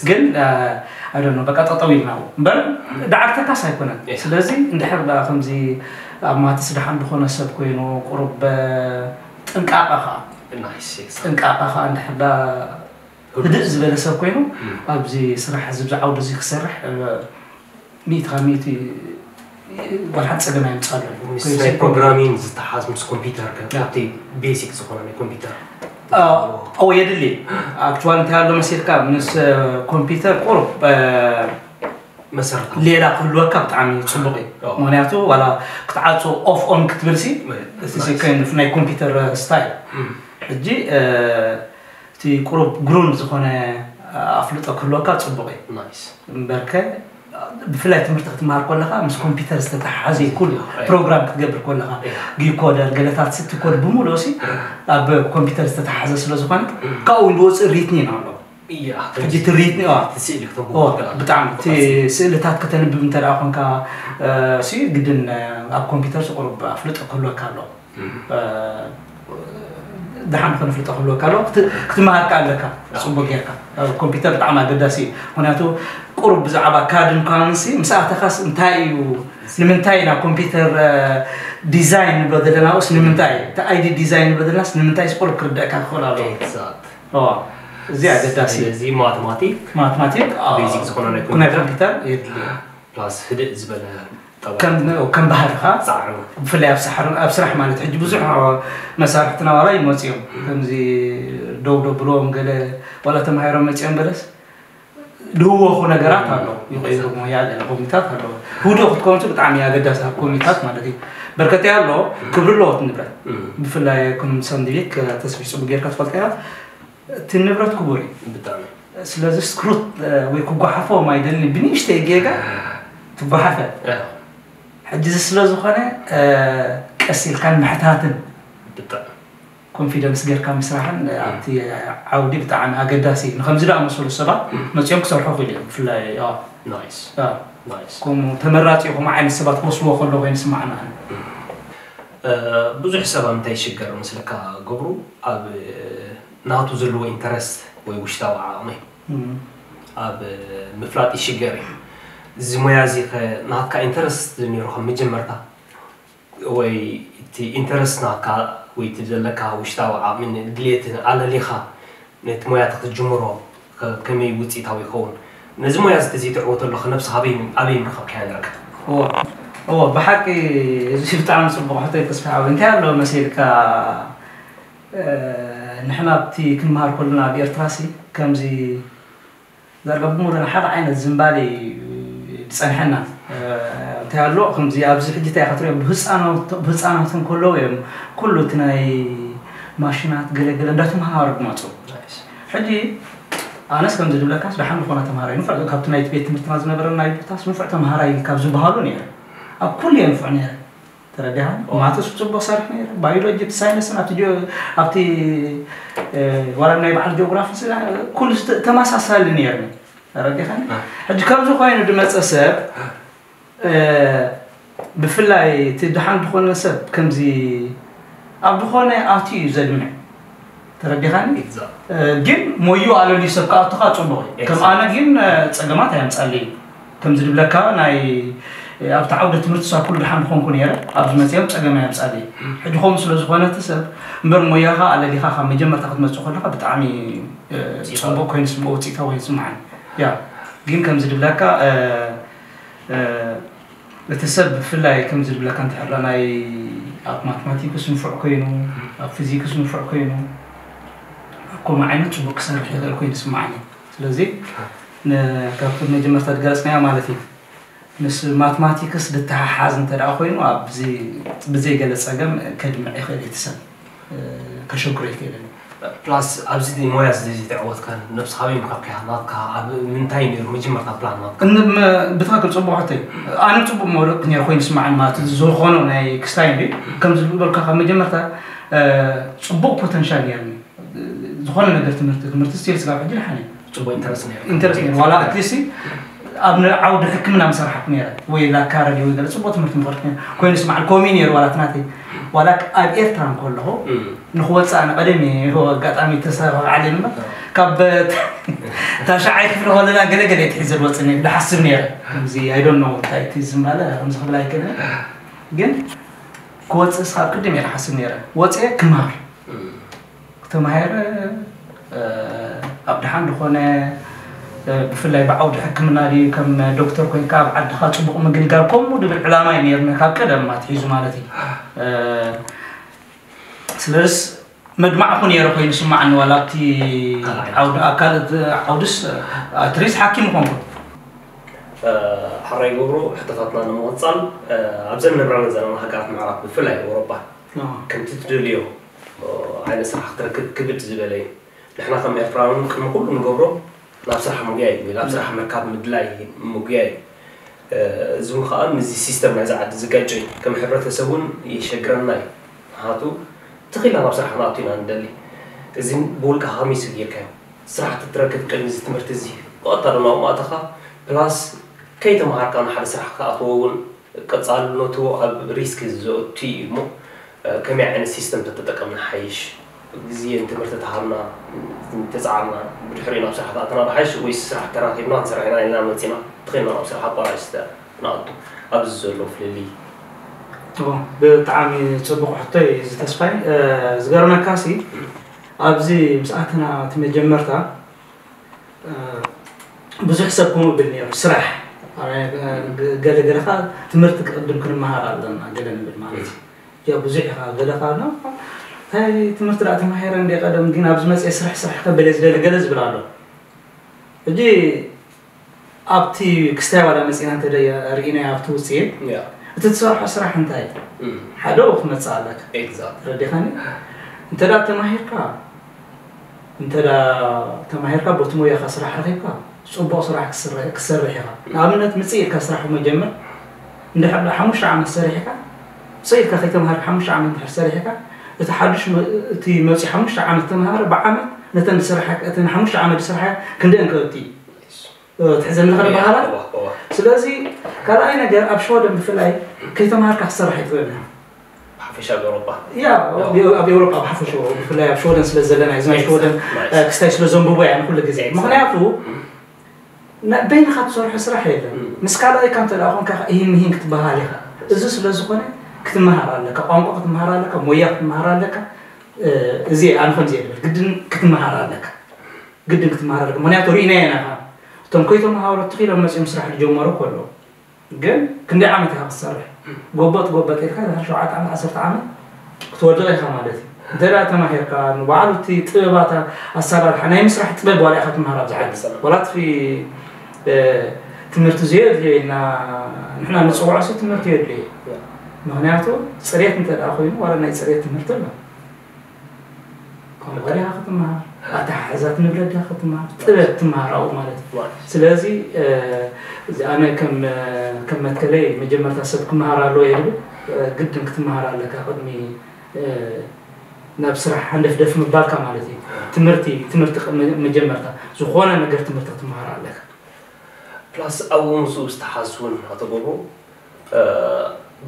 ግን ኣደኖ በቃ ጠጠው ኢልና እምበር ዳዓርተካስ ኣይኮነን ስለዚ እንድሕር ዳ ከምዚ ኣብ ማትስ ደሓን ዝኾነ ሰብ ኮይኑ ቁሩብ ጥንቃቐ ከዓ ጥንቃቐ ከዓ እንድሕር ዳ ህድእ ዝበለ ሰብ ኮይኑ ኣብዚ ስራሕ እዚ ብዛዕባ እዚ ክሰርሕ ሚእቲ ካብ ሚእቲ ዋላ ሓንቲ ጸገም ኣይምጻሉ። ምስ ናይ ፕሮግራሚንግ ዝተሓዝ ምስ ኮምፒውተር ከ ኣብቲ ቤሲክ ዝኾነ ናይ ኮምፒውተር ኦ የድሊ። ኣክቹዋሊ እንታይ ኣሎ መሲልካ ምስ ኮምፒውተር ቁሩብ መሰረት ሌላ ክህልወካ ብጣዕሚ ጽቡቕ እዩ። ምክንያቱ ዋላ ክትዓጾ ኦፍ ኦን ክትብል ሲ እቲ ናይ ኮምፒውተር ስታይል ሕጂ እቲ ቁሩብ ግሩንድ ዝኾነ ኣፍልጦ ክህልወካ ጽቡቕ እዩ። እምበርከ ብፍላይ ትምህርቲ ክትመሃር ከለኻ ምስ ኮምፒውተር ዝተተሓሓዘ እዩ። ኩሉ ፕሮግራም ክትገብር ከለኻ ዲኮደር ገለታት እቲ ኮድ ብምሉእ ሲ ኣብ ኮምፒውተር ዝተተሓሓዘ ስለ ዝኾነ ካብኡ ንወፅእ ሪትኒ ኢና ኣሎ። ሕጂ እቲ ሪትኒ ብጣዕሚ እቲ ስእልታት ከተንብብ እንተ ደኣ ኮንካ ሲ ግድን ኣብ ኮምፒውተር ቁሩብ ኣፍልጦ ክህልወካ ኣሎ። ደሓን ከነፍልጦ ክህልወካ ኣሎ ክትመሃር ከኣ ኣለካ። ፅቡቅ ጌርካ ኮምፒውተር ብጣዕሚ ኣገዳሲ እዩ። ምክንያቱ ቁሩብ ብዛዕባ ካድን ካንሲ ምስ ኣተኻስ እንታይ እዩ ንምንታይ ኢና ኮምፒውተር ዲዛይን ንብሎ ዘለና ስ ንምንታይ እቲ ኣይዲ ዲዛይን ንብሎ ዘለናስ ንምንታይ ቁሩብ ክርደእካ ክኽእል ኣለዎ። እዚ ኣገዳሲ እዚ ማትማቲክ ማትማቲክ ቤዚክ ዝኾነ ናይ ናይ ኮምፒውተር ኮምፒውተር የድልዮ። ፕላስ ህድእ ዝበለ ከም ባህልኻ ፃዕሪ ብፍላይ ኣብ ሳሕርን ኣብ ስራሕ ማለት ሕጂ ብዙሕ መሳርሕትና ዋላ ይመፁ እዮም። ከምዚ ደው ደብልዎም ገለ ዋላ ተማሂሮም መፂኦም ገለስ ድህወኹ ነገራት ኣሎ ይቀይሩ ሞያ ገለ ኮሚታት ኣለዎ። ህዱእ ክትከውን ብጣዕሚ ኣገዳሲ ኣብ ኮሚታት ማለት እዩ። በርከት ኣሎ ክብሪ ኣለዎ እቲ ንብረት ብፍላይ ከም ሰንድሊክ ተስፊ ፅቡቅ ጌርካ ትፈልጣ እያ። እቲ ንብረት ክቡር እዩ። ብጣዕሚ ስለዚ ስክሩት ወይ ክጓሓፎም ኣይደልን ብንእሽተይ ጌጋ ትጓሓፈ። ሕጂ እዚ ስለ ዝኾነ ቀስ ኢልካን ምሕታትን ብጣዕሚ ኮንፊደንስ ጌርካ ምስራሕን ኣብቲ ዓውዲ ብጣዕሚ ኣገዳሲ እዩ። ንከምዚ ዝኣመሰሉ ሰባት መፂኦም ክሰርሑ ክኢሉ እዮም። ብፍላይ ናይስ ናይስ ከምኡ ተመራፂ ከምኡ ዓይነት ሰባት ክወስድዎ ከሎ ኮይኑ ይስማዓና። ብዙሕ ሰብ ኣብ ምንታይ ይሽገር መስለካ ገብሩ ኣብ ናቱ ዘለዎ ኢንተረስት ወይ ውሽጣዊ ዓቕሚ ኣብ ምፍላጥ ይሽገር እዩ። እዚ ሞያ እዚ ከ ናትካ ኢንተረስት ነይሩ ከም መጀመርታ ወይ እቲ ኢንተረስት ናትካ ወይ እቲ ዘለካ ውሽጣዊ ዓቕምን ድሌትን ኣለሊኻ ነቲ ሞያ ክትጅምሮ ከመይ ውፅኢታዊ ይኸውን? ነዚ ሞያ እዚ ተዘይትዕወተሉ ከ ነብስኻ ኣበይ ኣበይ ምረኸብካያ ነርካ? እዎ እዎ ብሓቂ እዚ ብጣዕሚ ፅቡቕ ሕቶ እዩ ተስፋ ሓወይ። እንታይ ኣሎ መሲልካ ንሕና ኣብቲ ክንመሃር ከለና ኣብ ኤርትራ ሲ ከምዚ ዳርጋ ብሙሉእ ሓደ ዓይነት ዝንባሌ እዩ ዝፀንሐና። እንታይ ኣሎ ከምዚ ኣብዚ ሕጂ እንታይ ኢኻ ትሪኦ ብህፃናት እንከለዉ እዮም ኩሉ እቲ ናይ ማሽናት ገለገለ እንዳተምሃሩ ዝመፁ። ሕጂ ኣነስ ከምዚ ዝብለካስ ደሓን ዝኾነ ተምሃራይ ንፉዕ ካብቲ ናይቲ ቤት ትምህርትና ዝነበረና ይብታስ ንፉዕ ተምሃራይ ካብ ዝበሃሉ ነይረ። ኣብ ኩሉ እየ ንፉዕ ነይረ። ተረዲኻ? ማትስ ብፅቡቅ ሰርሕ ነይረ። ባዮሎጂ፣ ሳይንስን ኣብቲ ጂኦ- ኣብቲ እ፣ ዋላ ናይ በዓል ጂኦግራፊ ስለ ኩሉ ዝተ- ተመሳሳሊ ነይርኒ። ተረዲኻ? ሕጂ ከምዚ ኮይኑ ዝመፀ ሰብ እ፣ ብፍላይ እቲ ደሓን ዝኾነ ሰብ ከምዚ ኣብ ዝኾነ ኣትዩ እዩ ዘድምዕ። ተረዲኻኒ? ግን ሞዩ ኣለልዩ ሰብ ክኣቱኻ ፅቡቕ እዩ። ከም ኣነ ግን ፀገማት ኣየምፃለይ እዩ። ከምዚ ዝብለካ ናይ ኣብቲ ዓውደ ትምህርቲ ሳ ኩሉ ደሓን ዝኾንኩ ነይረ ኣብዚ መፅኦም ፀገም ኣየምፃለይ እዩ። ሕጂ ከምኡ ስለ ዝኾነ እቲ ሰብ እምበር ሞያኻ ኣለሊኻ ካብ መጀመርታ ክትመፅእ ከለኻ ብጣዕሚ ፅቡቕ ኮይኑ ስምኦ ውፅኢታዊ ኮይኑ ስምዓኒ። ያ ግን ከምዚ ዝብለካ እቲ ሰብ ብፍላይ ከምዚ ዝብለካ እንተሕላ ናይ ኣብ ማትማቲክስ ንፉዕ ኮይኑ ኣብ ፊዚክስ ንፉዕ ኮይኑ ኣብ ከምኡ ዓይነት ፅቡቅ ክሰርሕ ይኽእል ኮይኑ ይስማዓኒ። ስለዚ ካብቲ መጀመርታ ዝገለፅናዮ ማለት እዩ ምስ ማትማቲክስ ዝተሓሓዝ እንተ ደኣ ኮይኑ ኣብዚ ብዘይ ገለ ፀገም ከድምዕ ይኽእል እቲ ሰብ። ከሸግሮ ይኽእልን እዩ። ፕላስ ኣብዚ ሞያ እዚ ዘይተዕወትካን ነብስኻ ኣበይ ምረኸብካያ ናትካ ኣብ ምንታይ ነይሩ መጀመርታ ፕላን ናትካ? ብትኽክል ፅቡቅ ሕቶ እዩ። ኣነ ፅቡቅ መውደቅ ነይሩ ኮይኑ ስማዓን ማለት ዝኾኖ ናይ ክስታይ እንዲ ከምዚ ዝበልካ ካብ መጀመርታ ፅቡቅ ፖተንሻል ነይርኒ ዝኾነ ነገር ትምህርቲ ትምህርቲ ስቲል ስጋብ ሕጂ ድሓን እዩ። ፅቡቅ ኢንተረስት ነይሩ። ኢንተረስት ነይሩ ዋላ ኣትሊስት ኣብ ዓውዲ ሕክምና ምሰራሕኩ ነይረ ወይ ላካረዲ ወይ ገለ ፅቡቅ ትምህርቲ ምኸድኩ ነይረ ኮይኑ ስማዕ ኮሚ ነይሩ ዋላ ትናተይ ዋላ ኣብ ኤርትራ እንከለኹ ንክወፅእ ኣነ ቀደም እየ ኣጋጣሚ ተሰራዓለ እምበር ካብ ታሽዓይ ክፍሊ ከለና ገለገለ እየ ትሒዘ ዝወፅእ ነይረ ዝሓስብ ነይረ ከምዚ ኣይዶን ነው እንታይ እቲ ዝማለ ከምዚ ክብል ኣይክእልን ግን ክወፅእ ስኻብ ቅድም እየ ዝሓስብ ነይረ ወፅየ ክምሃር ተማሂረ ኣብ ደሓን ዝኾነ ብፍላይ ብዓውዲ ሕክምና ድዩ ከም ዶክተር ኮይንካ ኣብ ዓድኻ ፅቡቕ ምግልጋል ከምኡ ድብል ዕላማ እዩ ነርና ካብ ቀደም ኣትሒዙ ማለት እዩ። ስለስ መድማዕኹ ነይረ ኮይኑ ስማዕኒ ዋላ ኣብቲ ዓውዲ ኣካል ዓውድስ ኣትሪስ ሓኪም ኾንኩ። ሓራይ ገብሩ ሕቶታትና ንምቕፃል ኣብዘን ነብራለን ዘለና ሃገራት ምዕራብ ብፍላይ ኤውሮጳ ከምቲ ትደልዮ ዓይነት ስራሕ ክትረክብ ክብድ ዝበለ እዩ። ንሕና ከም ኤርትራውያን ቅድሚ ኩሉ ንገብሮ ናብ ስራሕ ምጉያይ እዩ ናብ ስራሕ ምርካብ ምድላይ ምጉያይ እዩ። እዚ እውን ከዓ ምስዚ ሲስተም ናይዚ ዓዲ ዝጋጨ እዩ። ከም ሕብረተሰብ እውን የሸግረና እዩ። ምክንያቱ ትኺልና ናብ ስራሕ ክንኣቱ ኢና ንደሊ። እዚ ብውልቅኻ ከመይ ስግርካዮ ስራሕ ትትረክብ ቅድሚ እዚ ትምህርቲ እዚ ብቐጥታ ድማ ኣብኡ ኣተኻ ፕላስ ከይተምሃርካ ንሓደ ስራሕ ክትኣትዎ እውን ቀፃልነቱ ኣብ ሪስክ ዘእቱ እዩ እሞ ከመይ ዓይነት ሲስተም ተተጠቀምና ሓይሽ ግዜ ንትምህርቲ ተሃብና ተፃዕርና ብድሕሪኡ ናብ ስራሕ ተኣተና ብሓይሽ ወይስ ስራሕ ተራኪብና ክንሰርሕ ኢና ኢልና መፂና ተኸይና ናብ ስራሕ ኣቋራጭ ስተ ንኣቱ ኣብዚ ዘሎ ፍልልይ ብጣዕሚ ፅቡቅ ሕቶ እዩ እዚ ተስፋይ። ዝገርመካ ሲ ኣብዚ ምስ ኣተና እቲ መጀመርታ ብዙሕ ሰብ ከምኡ ይብል ነይሩ። ስራሕ ገለ ገለ ከዓ ትምህርቲ ክቅድም ክንመሃር ኣለና ገለ ንብል ማለት እዩ። ያ ብዙሕ ኢኻ ገለ ከዓ ኣሎ እንታይ ትምህርቲ ደኣ ተማሂረ እንደ ቀደም ግን ኣብዚ መፅአ ስራሕ ስራሕ ከበለ ዝደሊ ገለ ዝብል ኣሎ። ሕጂ ኣብቲ ክስታይ ዋላ መፂና እንተ ርኢናዮ ኣብቲ ውፅኢት እቲ ትሰርሖ ስራሕ እንታይ ሓደ ክትመፅእ ኣለካ። ተረዲኻኒ? እንተ ተማሂርካ እንተ ተማሂርካ ቦቲ ሞያኻ ስራሕ ረኺብካ ፅቡቕ ስራሕ ክትሰርሕ ኢኻ። ንኣብነት ምፅእ ኢልካ ስራሕ መጀመር እንድሕር ሓሙሽተ ዓመት ሰሪሕካ ምፅእ ኢልካ ከይተምሃርካ ሓሙሽተ ዓመት እንድሕር ሰሪሕካ እቲ ሓዱሽ እቲ መፂኡ ሓሙሽተ ዓመት ተምሃረ ብዓመት ነተን ዝሰርሓ እተን ሓሙሽተ ዓመት ዝሰርሓ ክንደአን ክእቲ ትሕዘኒ ከ በሃላ። ስለዚ ካልኣይ ነገር ኣብ ሸወደን ብፍላይ ከይተምሃርካ ክትሰርሕ ኣይትኽእልን። ሓፈሻ ኤውሮጳ ያ ኣብ ኤውሮጳ ብሓፈሽኡ ብፍላይ ኣብ ሸወደን ስለ ዘለና እዚ ናይ ሸወደን ክስታይ ስለ ዘንብቦ እያ ንኩሉ ግዜ ምክንያቱ በይንኻ ትሰርሖ ስራሕ የለን። ምስ ካልኣይካ እንተ ደኣ ኮንካ ኢሂን ምሂን ክትበሃል ኢኻ። እዚ ስለ ዝኾነ ክትመሃር ኣለካ፣ ቋንቋ ክትመሃር ኣለካ፣ ሞያ ክትመሃር ኣለካ። እዚ ኣነ ከምዚ እየ ዝብል ግድን ክትመሃር ኣለካ። ግድን ክትመሃር ኣለካ ምክንያቱ ርኢናዮ ኢና። እቶም ከይተምሃሩ ትኺሎም መፂኦም ስራሕ ዝጀመሩ ከለዉ ግን ክንደይ ዓመት ኢኻ ክትሰርሕ? ጎበጥ ጎበጥ ኢልካ ድሕሪ ሸውዓተ ዓመት ዓሰርተ ዓመት ክትወድቕ ኢኻ ማለት እዩ። እንተ ደኣ ተማሂርካ ንባዕሉ እቲ ጥበባት ኣሰራርሓ ናይ ምስራሕ ጥበብ ዋላ ኢኻ ትምሃር ኣብዚ ዓዲ ዋላ እቲ ትምህርቲ ዘየድልዮ ኢልና ንሕና ንፅውዖ ሲ ትምህርቲ የድልዮ እዩ። ምክንያቱ ፅሬት እንተ ደኣ ኮይኑ ዋላ ናይ ፅሬት ትምህርቲ ኣሎ። ቋንቋ ዲኻ ክትመሃር፣ ኣተሓሕዛ ትንብረት ዲኻ ክትመሃር፣ ጥበብ ትመሃር ኣብኡ ማለት እዩ። ስለዚ ኣነ ከም ከም መትከለይ መጀመርታ ሰብ ክመሃር ኣለዎ እየ ዝብል፣ ግድን ክትመሃር ኣለካ ቅድሚ ናብ ስራሕ ሃንደፍደፍ ምባልካ ማለት እዩ። ትምህርቲ ትምህርቲ መጀመርታ ዝኾነ ነገር ትምህርቲ ክትመሃር ኣለካ። ፕላስ ኣብኡ ምስኡ ዝተሓዝ እውን ኣቶ ገብሩ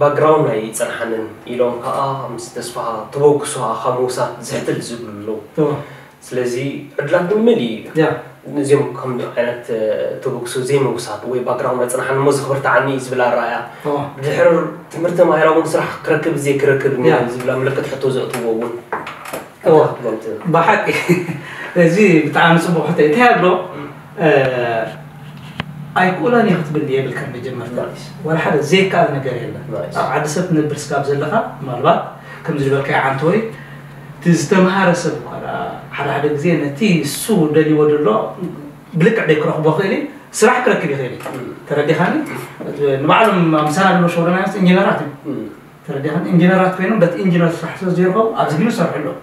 ባክግራውንድ ኣይፀንሓንን ኢሎም ከዓ ምስ ተስፋ ተበግሶ ኣኻ ምውሳድ ዝሕትል ዝብሉ ኣለዉ። ስለዚ ዕድላት ንመን እዩ? እዚኦም ከም ዓይነት ተበግሶ ዘይምውሳድ ወይ ባክግራውንድ ኣይፀንሓን እሞ ዝኽብርቲ ዓኒ እዩ ዝብል ኣረኣያ ብድሕር ትምህርቲ ተማሂራ እውን ስራሕ ክረክብ ዘይክረክብ ዝብላ ምልክት ሕቶ ዘእትዎ እውን ብሓቂ እዚ ብጣዕሚ ፅቡቅ ሕቶ እዩ። እንታይ ኣሎ ኣይክእሎን እየ ክትብል የብልካ። መጀመርታ ዋላ ሓደ ዘይከኣል ነገር የለን። ኣብ ዓዲ ሰብ ትነብር ስጋብ ዘለካ ምናልባት ከምዚ ዝበልካዮ ዓንተወይ እቲ ዝተምሃረ ሰብ እኳ ሓደ ሓደ ግዜ ነቲ እሱ ደልይዎ ዘሎ ብልክዕ ደይ ክረኽቦ ክእል ስራሕ ክረክብ ይኽእል እዩ። ተረዲኻኒ? ንባዕሎም ምሳና ዘሎ ሸወደናዮስ ኢንጂነራት እዩ። ተረዲኻኒ? ኢንጂነራት ኮይኖም በቲ ኢንጂነር ስራሕ ስለ ዘይረኸቡ ኣብዚ ግን ይሰርሑ ኣለዉ።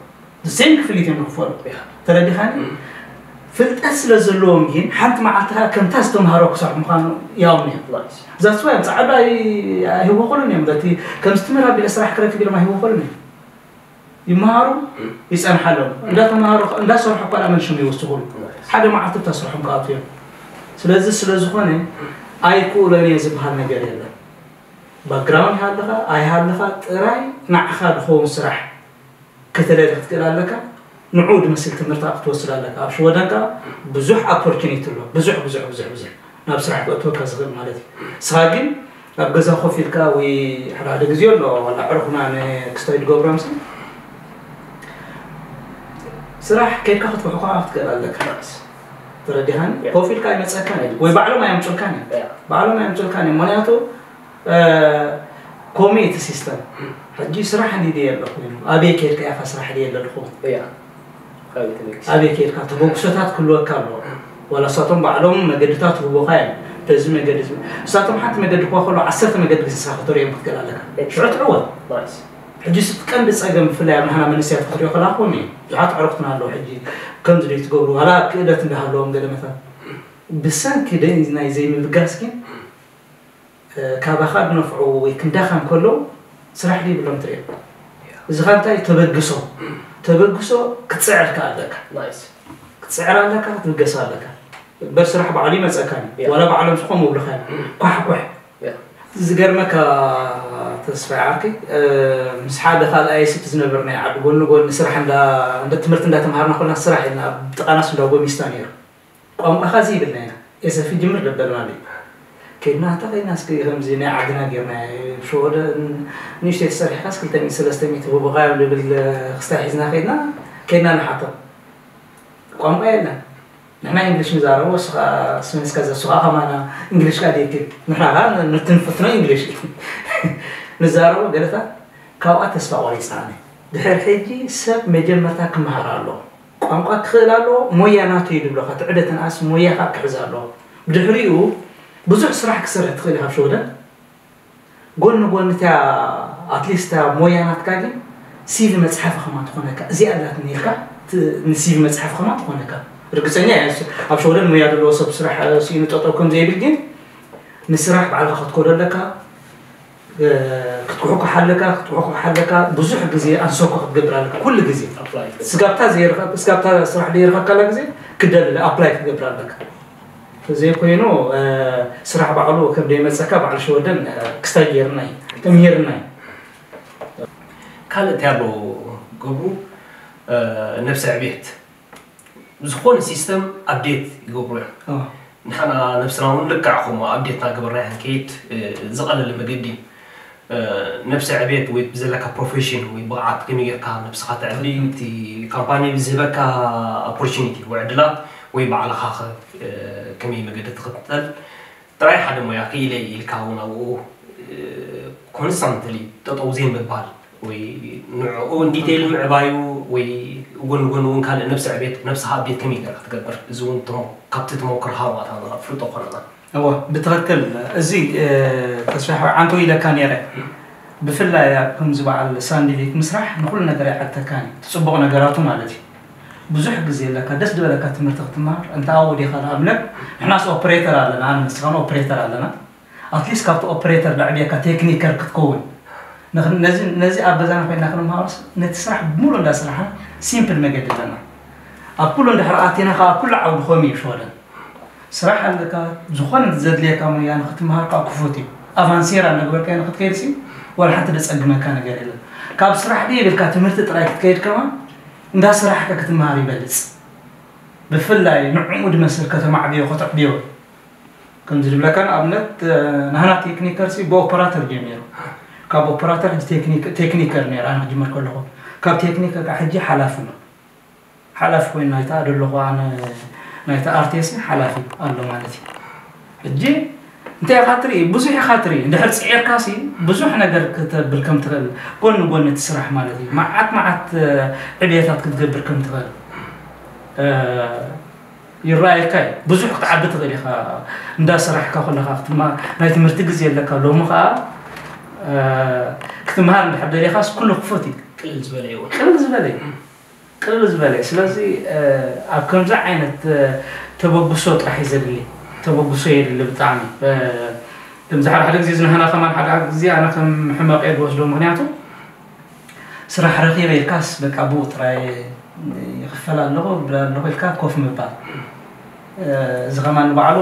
ሴም ክፍሊት እዮም ዝኽፈሉ። ተረዲኻኒ? ፍልጠት ስለ ዘለዎም ግን ሓንቲ መዓልቲ ከዓ ከምታ ዝተምሃሮ ክሰርሑ ምዃኑ ያውም እዮም። ዛስዋ እዮም ፃዕዳ ኣይህወኸሉን እዮም። በቲ ከምዚ ትምህር ኣቢለ ስራሕ ክረክብ ኢሎም ኣይህወኸሉን እዮም። ይመሃሩ ይፀንሓሎም እንዳተምሃሩ እንዳሰርሑ እኳ መን ሽም ይወስኹሉ። ሓደ መዓልቲ ብታ ስርሖም ክኣቱ እዮም። ስለዚ ስለ ዝኾነ ኣይክእሎን እየ ዝበሃል ነገር የለን። ባክግራውንድ ይሃልኻ ኣይሃልኻ ጥራይ ንዓኻ ዝኸውን ስራሕ ከተለሊ ክትክእል ኣለካ። ንዑ ድመስል ትምህርቲ ክትወስድ ኣለካ። ኣብ ሽወደን ከዓ ብዙሕ ኣፖርቹኒቲ ኣሎ። ብዙሕ ብዙሕ ብዙሕ ብዙሕ ናብ ስራሕ ክእትወካ ዝኽእል ማለት እዩ። ንስኻ ግን ኣብ ገዛ ኮፍ ኢልካ ወይ ሓደ ሓደ ግዜ ኣሎ ዋላ ዕርኹና ንክስታይ ድገብሮም ሲ ስራሕ ከይድካ ክትብሕኳ ክትክእል ኣለካ። ተረዲኻኒ? ኮፍ ኢልካ ኣይመፀካን እዩ ወይ ባዕሎም ኣየምፁልካን እዩ። ባዕሎም ኣየምፁልካን እዩ። ምክንያቱ ኮሜ እቲ ሲስተም ሕጂ ስራሕ እንዲ ድየ ኣለኹ፣ ኣበይ ከይድካ ኢኻ ስራሕ ድየ ኣለኹ? ኣበይ ከይድካ ተበግሶታት ክህልወካ ኣለዎ። ዋላ እሳቶም ባዕሎም መገድታት ህቦኻ እዮም። በዚ መገዲ እዚ፣ እሳቶም ሓንቲ መገዲ ክዋ ከሎ ዓሰርተ መገዲ ግዜ ስራሕ ክተርእዮም ክትክእል ኣለካ። ሽዑ ትዕወት። ሕጂ ስቲ ቀንዲ ፀገም ብፍላይ ኣብ ንሕና መንእሰያት ክትሪኦ ከላ ኮሜ ብዙሓት ዕሩኽትና ኣለዉ። ሕጂ ከምዚ ዶ ትገብሩ ዋላ ክእለት እንዳሃለዎም ገለ መታት ብሰንኪ ናይ ዘይምብጋስ ግን ካባኻ ድነፍዑ ወይ ክንዳኻ እንከለዉ ስራሕ ድይብሎም ትሪኦ። እዚ ኻ እንታይ ተበግሶ፣ ተበግሶ ክትፅዕር ከኣ ኣለካ። ክትፅዕር ኣለካ፣ ክትብገስ ኣለካ። እምበር ስራሕ ባዕሉ ይመፀካ እዩ። ዋላ ባዕሎም ዝኾም ምብልኻ እዮም። ኳሕ ኳሕ። ዝገርመካ ተስፋ ዓርከይ፣ ምስ ሓደ ካልኣይ ስቲ ዝነብር ናይ ዓዲ ጎኒ ጎኒ ስራሕ እንዳ እንደ ትምህርቲ እንዳተምሃርና ኮልና ስራሕ ኢልና ኣብ ጥቓናስ እንዳ ጎሚስታ ነይሩ። ቋንቋኻ እዚ ይብልና ኢና። ኤሰፊ ጅምር ደበልና እዩ። ከይድና እንተ ከይድና እስኪ ከምዚ ናይ ዓድና ጌርና ሸወደ ንእሽተይ ተሰሪሕካስ ክልተ ሚእቲ ሰለስተ ሚእቲ ህቡኻ እዮም ልብል ክስታይ ሒዝና ከይድና ከይድና ንሓቶ። ቋንቋ የለን። ንሕና እንግሊሽ ንዛረቦ፣ እሱ ኸኣ ስሜስካ ዘሱ ኸኣ ከማና እንግሊሽ ቃል ይክል። ንሕና ኸኣ ንትንፍትኖ እንግሊሽ ንዛረቦ ገለታት ካብኣ ተስፋ ቆሪጽና። ድሕሪ ሕጂ ሰብ መጀመርታ ክመሃር ኣለዎ። ቋንቋ ክኽእል ኣለዎ፣ ሞያ ናቱ እዩ ድብለኻ። ትዕደትን ኣስ ሞያኻ ክሕዝ ኣለዎ። ብድሕሪኡ ብዙሕ ስራሕ ክሰርሕ ትኽእል ኢኻ ኣብ ሸወደን። ጎኒ ጎኒ እቲኣ ኣትሊስት እታ ሞያ ናትካ ግን ሲቪ መፅሓፊ ከማ ትኾነካ እዚኣ ኣላትኒ ኢልካ ንሲቪ መፅሓፊ ከማ ትኾነካ። ርግፀኛ እየ ኣብ ሸወደን ሞያ ዘለዎ ሰብ ስራሕ ስኢኑ ጠጠው ከም ዘይብል ግን ንስራሕ ባዕልካ ክትኮዶ ኣለካ። ክትኩሕኩሕ ኣለካ ክትኩሕኩሕ ኣለካ ብዙሕ ግዜ ኣንሶኮ ክትገብር ኣለካ ኩሉ ግዜ። ስጋብታ ዘይርኸብ ስጋብታ ስራሕ ዘይርኸብ ካላ ግዜ ክደልለ ኣፕላይ ክትገብር ኣለካ። ዘይኮይኑ ስራሕ ባዕሉ ከም ደይመፀካ ባዕሉ ሸወደን ክስታይ ገይርና እዩ ተምሂርና እዩ። ካልእ እንታይ ኣሎ ገብሩ? ነብሰ ዕቤት ዝኾነ ሲስተም ኣፕዴት ይገብሩ እዮም። ንሕና ነብስና እውን ልክዕ ከምኡ ኣፕዴት እናገበርና ኢና ክንከይድ ዝቐለለ መገዲ እዩ። ነብሰ ዕቤት ወይ ብዘለካ ፕሮፌሽን ወይ ብቕዓት ከመይ ጌርካ ነብስኻ ተዕቢ፣ እቲ ካምፓኒ ብዝህበካ ኦፖርቹኒቲ ወይ ዕድላት ወይ ባዕልኻ ከ ከመይ መገዲ ትኽተል ጥራይ ሓደ ሞያ ክኢለ ኢልካ እውን ኣብኡ ኮንስታንትሊ ጠጠው ዘይምባል ወይ ንዕኡ ኢንዲቴይል ምዕባዩ ወይ ጎን ጎን እውን ካልእ ነብሰ ዕቤት ነብስኻ ኣፕዴት ከመይ ጌርካ ትገብር እዚ እውን ካብቲ ተመክሮኻ ዋታ ፍልጦ ኮነና። እወ ብትኽክል እዚ ተስፋ ሓወይ ዓንተው ኢለካ ነይረ። ብፍላይ ኣብ ከምዚ በዓል ሳንዲሊክ ምስራሕ ንኹሉ ነገር ኣይዓግተካን እዩ። እቲ ፅቡቕ ነገራቱ ማለት እዩ። ብዙሕ ግዜ ኣለካ ደስ ዝበለካ ትምህርቲ ክትመሃር እንተ ኣብኡ ዲኻ ንኣብነት ንሕናስ ኦፕሬተር ኣለና ኣነ ንስኻን ኦፕሬተር ኣለና ኣትሊስት ካብቲ ኦፕሬተር ደዕብየካ ቴክኒከር ክትከውን ነዚ ኣብ ገዛና ኮይና ክንመሃሮስ ነቲ ስራሕ ብሙሉእ እንዳስራሕና ሲምፕል መገዲ ኣለና ኣብ ኩሉ እንድሕር ኣቲና ከዓ ኣብ ኩሉ ዓውዲ ኮሚ እዩ ሸወደን ስራሕ ኣለካ ዝኾነ ዘድልየካ ሞያ ንክትምሃር ከዓ ክፉት እዩ ኣቫንሴራ እናገበርካዮ ንክትከይድ ሲ ዋላ ሓንቲ ደፀግመካ ነገር የለን ካብ ስራሕ ድየ ኢልካ ትምህርቲ ጥራይ ክትከይድ ከማን እንዳሰራሕካ ክትምሃር ይበልፅ ብፍላይ ንዕኡ ድመስል ከተማዕብዮ ከተዕብዮ ከምዚ ድብለካ ንኣብነት ናህና ቴክኒከር ሲ ብኦፐራተር ጀሚሩ ካብ ኦፐራተር ሕጂ ቴክኒከር ነይረ ኣነ ክጅምር ከለኹ ካብ ቴክኒከር ከዓ ሕጂ ሓላፊ ኣሎ ሓላፊ ኮይኑ ናይታ ደለኹ ኣነ ናይታ ኣርቴስ ሓላፊ ኣሎ ማለት እዩ ሕጂ እንታይ ኢኻ ትርኢ ብዙሕ ኢኻ ትርኢ እንድሕር ፅዒርካ ሲ ብዙሕ ነገር ክተብል ከም ትኽእል ጎኒ ጎኒ እቲ ስራሕ ማለት እዩ መዓት መዓት ዕብየታት ክትገብር ከም ትኽእል ይረኣየካ እዩ ብዙሕ ክትዓቢ ትኽእል ኢኻ እንዳ ሰራሕካ ከለኻ ክትማ ናይ ትምህርቲ ግዜ ኣለካ ሎሚ ኸዓ ክትምሃር እንድሕር ደሊኻስ ኩሉ ክፉት እዩ ቅልል ዝበለ እዩ ቅልል ዝበለ እዩ ቅልል ዝበለ እዩ ስለዚ ኣብ ከምዚ ዓይነት ተበግሶ ጥራሕ እዩ ዘድሊ ተበግሶ የድሊ ብጣዕሚ ከምዚ ሓደ ሓደ ግዜ ዝንሃና ከማን ሓደ ግዜ ኣነ ከም ሕመቕ እየ ዝወስዶ ምክንያቱ ስራሕ ረኺበ ኢልካስ በቃ ብኡ ጥራይ ይኽፈል ኣለኹ ይብል ኣለኹ ኢልካ ኮፍ ምባል እዚ ከማን ንባዕሉ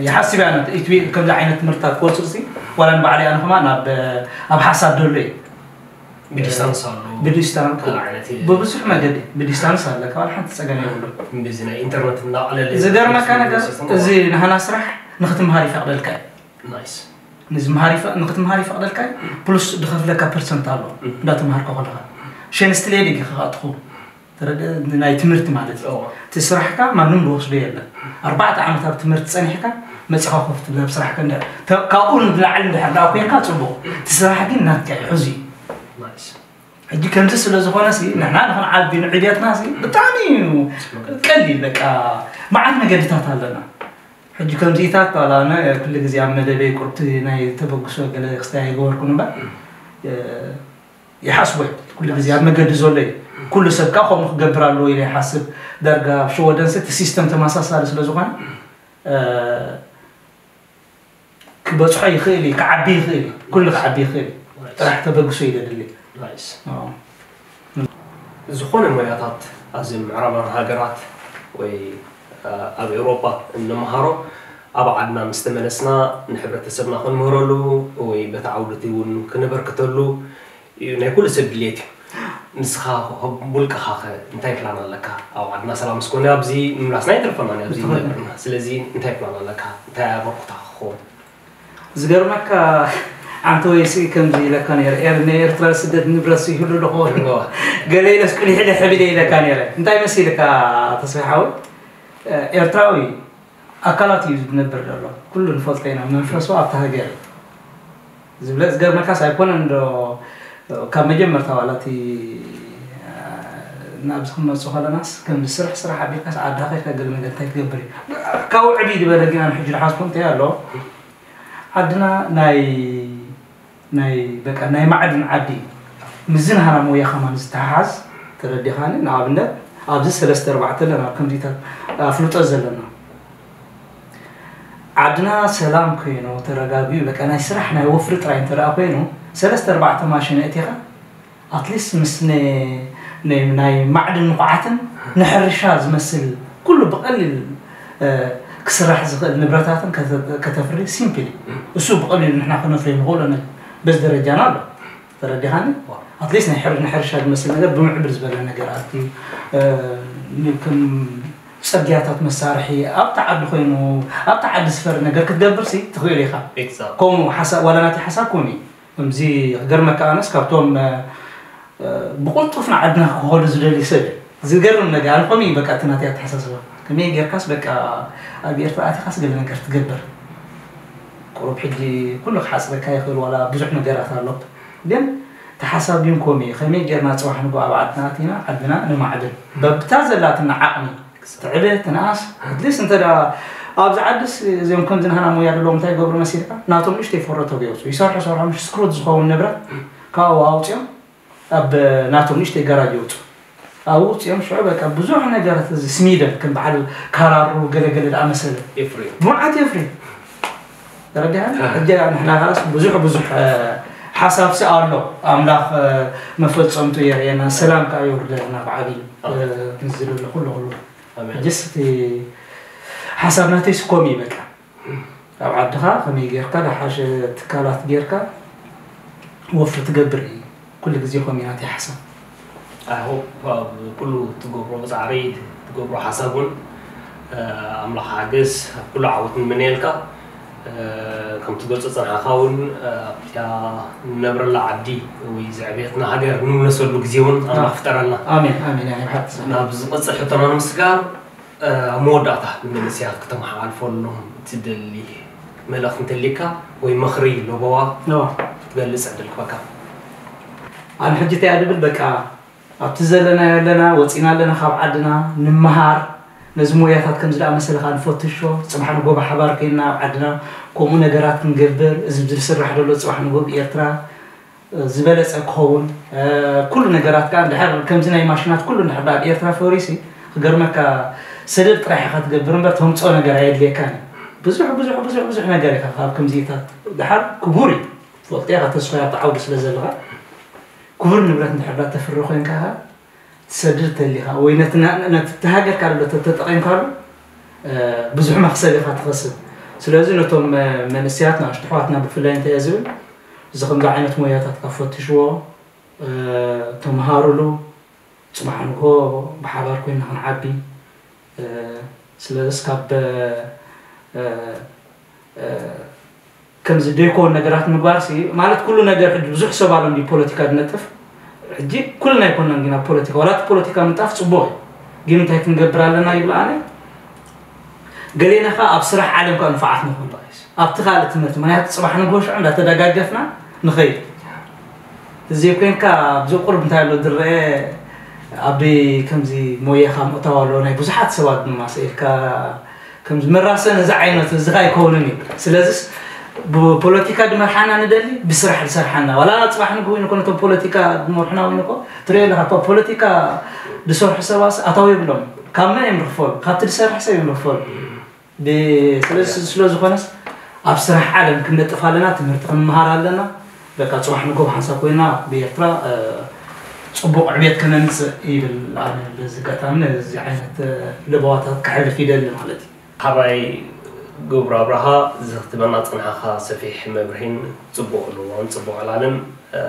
ይሓስብ እያ ኢትቢ ከምዚ ዓይነት ትምህርትታት ክወፅእ ሲ ዋላ ንባዕለይ ኣነ ከማን ኣብ ኣብ ሓሳብ ደሎ እዩ ብዲስታንስ ኣሎ ብዲስታንስ ብብዙሕ መገዲ ብዲስታንስ ኣለካ ዋላ ሓንቲ ፀገም የብሉ እዚ ናይ ኢንተርነት እናቐለለ ዝገርመካ ነገር እዚ ናህና ስራሕ ንክትምሃር ይፈቅደልካ እዩ ንክትምሃር ይፈቅደልካ ፕሉስ ድከፍለካ ፐርሰንት ኣሎ እንዳተምሃርካ ከለካ ሸንስትሌድ ኢኻ ትኸውን ተረደ ናይ ትምህርቲ ማለት እዩ። እቲ ስራሕካ ማንም ዝወስዶ የለን። ኣርባዕተ ዓመት ኣብ ትምህርቲ ጸኒሕካ መጺኻ ኮፍ ትብል ኣብ ስራሕካ እንደ ካብኡ ንላዕሊ እንድሕር ደኣ ኮይንካ ጽቡቕ። እቲ ስራሕ ግን ናትካ እዩ ሕዚ። ሕጂ ከምዚ ስለ ዝኾነ ሲ ንሕና ንኽንዓቢ ንዕብየትና ሲ ብጣዕሚ እዩ ቀሊል። በቃ መዓት መገድታት ኣለና። ሕጂ ከምዚታት ባላ ኣነ ኩሉ ግዜ ኣብ መደበይ ቁርብቲ ናይ ተበግሶ ገለ ክስታይ ኣይገበርኩን እምበር ይሓስቦ ኩሉ ግዜ ኣብ መገዲ ዘሎ እዩ። ኩሉ ሰብ ከዓ ከምኡ ክገብር ኣለዎ ኢለ ይሓስብ። ዳርጋ ኣብ ሽወደን እቲ ሲስተም ተመሳሳሊ ስለ ዝኾነ ክበፅሖ ይኽእል እዩ፣ ክዓቢ ይኽእል እዩ፣ ኩሉ ክዓቢ ይኽእል እዩ። ጥራሕ ተበግሶ እዩ ዘድሊ። ዝኾነ ሞያታት ኣብዚ ምዕራባን ሃገራት ወይ ኣብ ኤውሮጳ እንመሃሮ ኣብ ዓድና ምስ ተመለስና ንሕብረተሰብና ክንምህረሉ ወይ በቲ ዓውዲ እቲ እውን ክነበርክተሉ እዩ ናይ ኩሉ ሰብ ድልየት እዩ። ንስኻ ውልቅኻ ኸ እንታይ ፕላን ኣለካ? ኣብ ዓድና ሰላም ስኮነ ኣብዚ ምምላስና ይተርፈና ኣብዚ ዝነብርና። ስለዚ እንታይ ፕላን ኣለካ? እንታይ ኣበርኩታ ክኸውን? ዝገርመካ ኣንተ ወይ ስኢ ከምዚ ኢለካ ነይረ፣ ኤር- ንኤርትራ ስደት ንብረት ይህሉ ዶ ኸውን? ገለ ኢለስ ቁሊሕ ኢለ ሕብለ ኢለካ ነይረ። እንታይ መሲልካ ተስፋ ሓወይ? ኤርትራዊ ኣካላት እዩ ዝነብር ዘሎ። ኩሉ ንፈልጦ ኢና፣ መንፈሱ ኣብታ ሃገር እዩ ዝብለ። ዝገርመካስ ኣይኮነን ዶ ካብ መጀመርታ ዋላ እቲ ናብዚ ክንመፅእ ከለናስ ከምዚ ስራሕ ስራሕ ኣቢልካስ ዓድኻ ከይድካ ገለ ነገር እንታይ ትገብር እዩ ካብኡ ዕብይ ዝበለ ግን ኣነ ሕጂ ዝሓስቦ እንታይ ኣሎ ዓድና ናይ ናይ በቃ ናይ ማዕድን ዓዲ እዩ። ምስዚ ናህና ሞያ ከማን ዝተሓሓዝ ተረዲኻኒ። ንኣብነት ኣብዚ ሰለስተ ኣርባዕተ ኣለና ኣብ ከምዚታት ኣፍልጦ ዘለና ዓድና ሰላም ኮይኑ ተረጋጊኡ በቃ ናይ ስራሕ ናይ ወፍሪ ጥራይ እንተ ደኣ ኮይኑ ሰለስተ ኣርባዕተ ማሽን ኣእቲኻ ኣትሊስት ምስ ናይ ማዕድን ንቑዓትን ንሕርሻ ዝመስል ኩሉ ብቐሊል ክስራሕ ዝኽእል ንብረታትን ከተፍሪ ሲምፕሊ እሱ ብቐሊሉ ንሕና ከነፍርዮ ንኽእሎ ነገር በዚ ደረጃና ኣሎ ተረዲኻኒ ኣትሊስት ናይ ሕር- ንሕርሻ ዝመስል ነገር ብምዕብል ዝበለ ነገር ኣትዩ ከም ፅርግያታት መሳርሒ ኣብቲ ዓዲ ኮይኑ ኣብቲ ዓዲ ዝፈሪ ነገር ክትገብር ሲ ትኽእል ኢኻ ከምኡ ሓሳብ ዋላ ናተይ ሓሳብ ከምኡ እዩ ከምዚ ክገርመካ ኣነስ ካብቶም ብቕልጡፍ ንዓድና ክኸዱ ዝደልዩ ሰብ እዩ ዝገርም ነገር ኣነ ከምኡ እዩ በቃ እቲ ናተይ ኣተሓሳስባ ከመይ ጌርካስ በቃ ኣብ ኤርትራ ኣቲኻስ ገለ ነገር ትገብር ቁሩብ ሕጂ ኩሉ ክሓፅረካ ይኽእል ዋላ ብዙሕ ነገራት ኣሎ ግን ተሓሳቢን ኮም እዩ ከመይ ጌርና ፅባሕ ንጎ ኣብ ዓድና ኣቲና ዓድና ንማዕብል በብታ ዘላትና ዓቕሚ ትዕበ ትንኣስ ኣትሊስት እንተ ደኣ ኣብዚ ዓድስ እዚኦም ከምዚ ናህና ሞያ ዘለዎም እንታይ ይገብሩ መሲልካ ናቶም ንእሽተይ ፈረቶ የውፅኡ ይሰርሑ ሰርሖም ሽስክሮት ዝኸውን ንብረት ካብኡ ኣውፅኦም ኣብ ናቶም ንእሽተይ ጋራጅ የውፅኡ ኣብኡ ውፅኦም ሽዑ በቃ ብዙሕ ነገራት እዚ ስሚደን ከም በዓል ካራሩ ገለገለ ዝኣመሰለ የፍርዩ መዓት የፍርዩ ተረዲኻ ሕጂ ንሕና ከላስ ብዙሕ ብዙሕ ሓሳብሲ ኣሎ ኣምላኽ መፈፀምቱ የርእየና ሰላም ከዓ የውርደልና ብዓብዩ ዝለለ ኩሉ ኩሉ ሕጅስ እቲ ሓሳብ ናተይ ስኮም እዩ በቃ ኣብ ዓድኻ ከመይ ጌርካ ዝሓሸ ትካላት ጌርካ ወፍሪ ትገብር እዩ ኩሉ ግዜ ኮም እዩ ናተይ ሓሳብ I hope ኣብ ኩሉ ትገብሮ ጻዕሪ ትገብሮ ሓሳብ እውን ኣምላኽ ሓግዝ ኣብ ኩሉ ዓወት ንምነየልካ ከም ትገልጾ ጸንሓኻ እውን ኣብቲያ ንነብረላ ዓዲ ወይ ዘዕብየትና ሃገር ንምለሰሉ ግዜ እውን ኣምላኽ ፍጠረልና ኣሜን ኣሜን ኣሜን ሓቂ ናብ ዝቐጽል ሕቶና ንምስጋር ኣብ መወዳእታ ንመንእሰያት ክተመሓላልፈሎም ትደሊ መልእኽቲ እንተሊካ ወይ ምኽሪ ለበዋ ክትገልጽ ዕድል ክበካ ኣነ ሕጂ እንታይ እያ ድብል በቃ ኣብቲ ዘለናዮ ኣለና ወፂና ኣለና ካብ ዓድና ንምሃር ነዚ ሞያታት ከምዚ ደኣ መሰለ ከዓ ንፈትሾ ፅባሕ ንጎ ብሓባር ኮይንና ኣብ ዓድና ከምኡ ነገራት ክንገብር እዚ ዝስራሕ ዘሎ ፅባሕ ንጎ ብኤርትራ ዝበለፀ ክኸውን ኩሉ ነገራት ከዓ እንድሕር ከምዚ ናይ ማሽናት ኩሉ እንድሕር ኣብ ኤርትራ ፈሪሲ ክገርመካ ሰደድ ጥራሕ ኢኻ ትገብር እምበር ተምፅኦ ነገር ኣየድልየካን እዩ ብዙሕ ብዙሕ ብዙሕ ብዙሕ ነገር ኢኻ ካብ ከምዚታት ድሓር ክቡር እዩ ትፈልጦ ኢኻ ተስፋ ኣብቲ ዓውዲ ስለ ዘለኻ ክቡር ንብረት እንድሕር ዳ ተፍሪ ኮይንካ ኸ ትሰድድ ተሊኻ ወይ ነቲ ሃገርካ ዶ ተተጠቒምካሉ ብዙሕ መኽሰብ ኢኻ ትኸስብ ስለዚ ነቶም መንእሰያት ንኣሽቱ ኣሕዋትና ብፍላይ እንታይ እየ ዝብል እዚ ከምዚ ዓይነት ሞያታት ካብ ፈትሽዎ ተምሃሩሉ ፅባሕ ንግሆ ብሓባር ኮይና ክንዓቢ ስለዚስ ካብ ከምዚ ደይኮን ነገራት ምግባር ሲ ማለት ኩሉ ነገር ሕጂ ብዙሕ ሰብ ኣሎ እንዲ ፖለቲካ ዝነጥፍ ሕጂ ኩልና ኣይኮናን ግን ኣብ ፖለቲካ፣ ዋላ እቲ ፖለቲካ ምንጣፍ ጽቡቕ እዩ፣ ግን እንታይ ክንገብር ኣለና ይብል ኣነ። ገሌና ኸኣ ኣብ ስራሕ ዓለም ከኣ ንፉዓት ንኹን። ኣብቲ ካልእ ትምህርቲ፣ ምኽንያቱ ጽባሕ ንግሆ ሽዑ እንዳተደጋገፍና ንኸይድ። እዚ ኮይንካ ኣብዚ ቁርብ እንታይ ኣሎ ዝረአ፣ ኣብ ከምዚ ሞያኻ ምእታው ኣሎ፣ ናይ ብዙሓት ሰባት ድማ ስኢልካ ከምዚ መራሰን እዚ ዓይነት እዚ ከኣ ኣይከውንን እዩ። ስለዚስ ብፖለቲካ ድመርሓና ንደሊ፣ ብስራሕ ዝሰርሓና። ዋላ ጽባሕ ንግሆ ይንኮ ነቶም ፖለቲካ ድመርሑና ይንኮ፣ ትሪኦ ኣለኻ፣ እኮ ፖለቲካ ዝሰርሑ ሰባት ኣታዊ የብሎም። ካብ መን እዮም ርኽፈሉ? ካብቲ ዝሰርሕ ሰብ እዮም ርኽፈሉ። ብ-፣ ስለዚ ስለ ዝኾነስ ኣብ ስራሕ ዓለም ክንነጥፍ ኣለና፣ ትምህርቲ ክንመሃር ኣለና። በቃ ጽባሕ ንግሆ ሓንሳብ ኮይና ብኤርትራ፣ እ፣ ጽቡቕ ዕብየት ከነምጽእ ይብል። ኣነ በዚ ኣጋጣሚ ነዚ ዓይነት፣ እ፣ ለበዋታት ከሕልፍ ይደሊ ማለት እዩ። ሓራይ ገብሩ ኣብርሃ፣ እዚ ክትበና ጸንሓኻ ሰፊሕ መብርሂን ጽቡቕ ልዋን ጽቡቕ ዕላልን፣ እ፣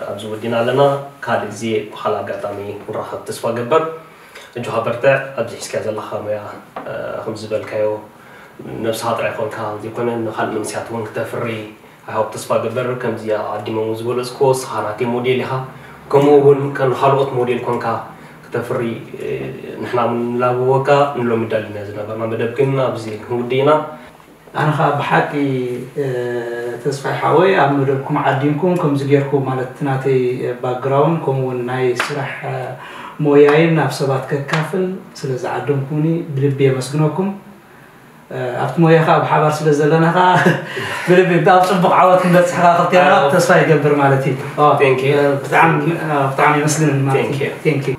ኣብዚ ወዲና ኣለና። ካልእ ግዜ ብኻልእ ኣጋጣሚ ክንራኸብ ተስፋ ገበር። እጆኻ በርትዕ፣ ኣብዚ ሒዝካዮ ዘለኻ ሞያ፣ እ፣ ከም ዝበልካዮ ነብስኻ ጥራይ ኮንካ ዘይኮነ ንኻልእ መንእሰያት እውን ክተፍሪ ኣይሃብ ተስፋ ገበር። ከምዚ ኣቐዲሞም ዝበለጽክዎ፣ ንስኻ ናተይ ሞዴል ኢኻ። ከምኡ እውን ከም ካልኦት ሞዴል ኮንካ ክተፍሪ፣ እ፣ ንሕና እውን ንላበወካ። ንሎሚ ዳሊና ዝነበርና መደብ ግን ኣብዚ ክንውድእ ኢና። ኣነ ኸኣ ብሓቂ፣ እ፣ ተስፋይ ሓወይ፣ ኣብ መደብኩም ዓዲምኩም ከምዚ ጌርኩም፣ ማለት እቲ ናተይ ባክግራውንድ ከምኡ እውን ናይ ስራሕ፣ እ፣ ሞያይን ናብ ሰባት ከካፍል ስለ ዝዓደምኩምኒ ብልቢ የመስግነኩም። እ፣ ኣብቲ ሞያ ኸኣ ብሓባር ስለ ዘለና ኸኣ ብልቢ ኣብ ጽቡቕ ዓወት ክንበጽሕ ኸኣ ክልቴና ኣዎ። ተስፋ ይገብር ማለት እዩ። ኦ፣ Thank you። እ፣ ብጣዕሚ፣ እ፣ ብጣዕሚ የመስግን ማለት እዩ። Thank you። Thank you።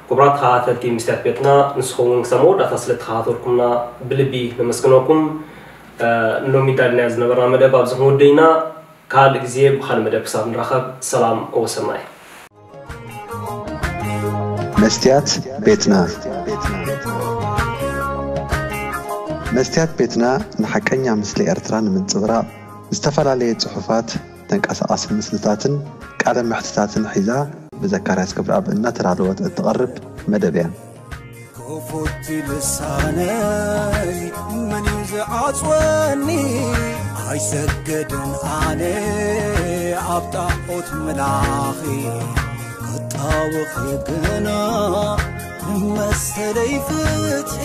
ክቡራት ተኸታተልቲ መስትያት ቤትና፣ ንስኹም እውን ክሳብ መወዳእታ ስለ ተኸታተልኩምና ብልቢ ነመስግነኩም። እ፣ ንሎሚ ዳሊናዮ ዝነበርና መደብ ኣብዚ ክንውድእ ኢና። ካልእ ግዜ ብኻልእ መደብ ክሳብ ንራኸብ፣ ሰላም ወሰናይ። መስትያት ቤትና። መስትያት ቤትና ንሓቀኛ ምስሊ ኤርትራ ንምንጽብራቕ ዝተፈላለየ ጽሑፋት፣ ተንቀሳቓሲ ምስልታትን ቃለ መሕትታትን ሒዛ ብዘካርያስ ገብረኣብ እናተዳለወት እትቐርብ መደብ እያ። ክፉት ልሳነይ መን እዩ ዝዓጽወኒ? ኣይሰግድን ኣነ ኣብ ጣዖት ምላኺ፣ ክጣወኺ ግና መሰለይ ፍትሒ።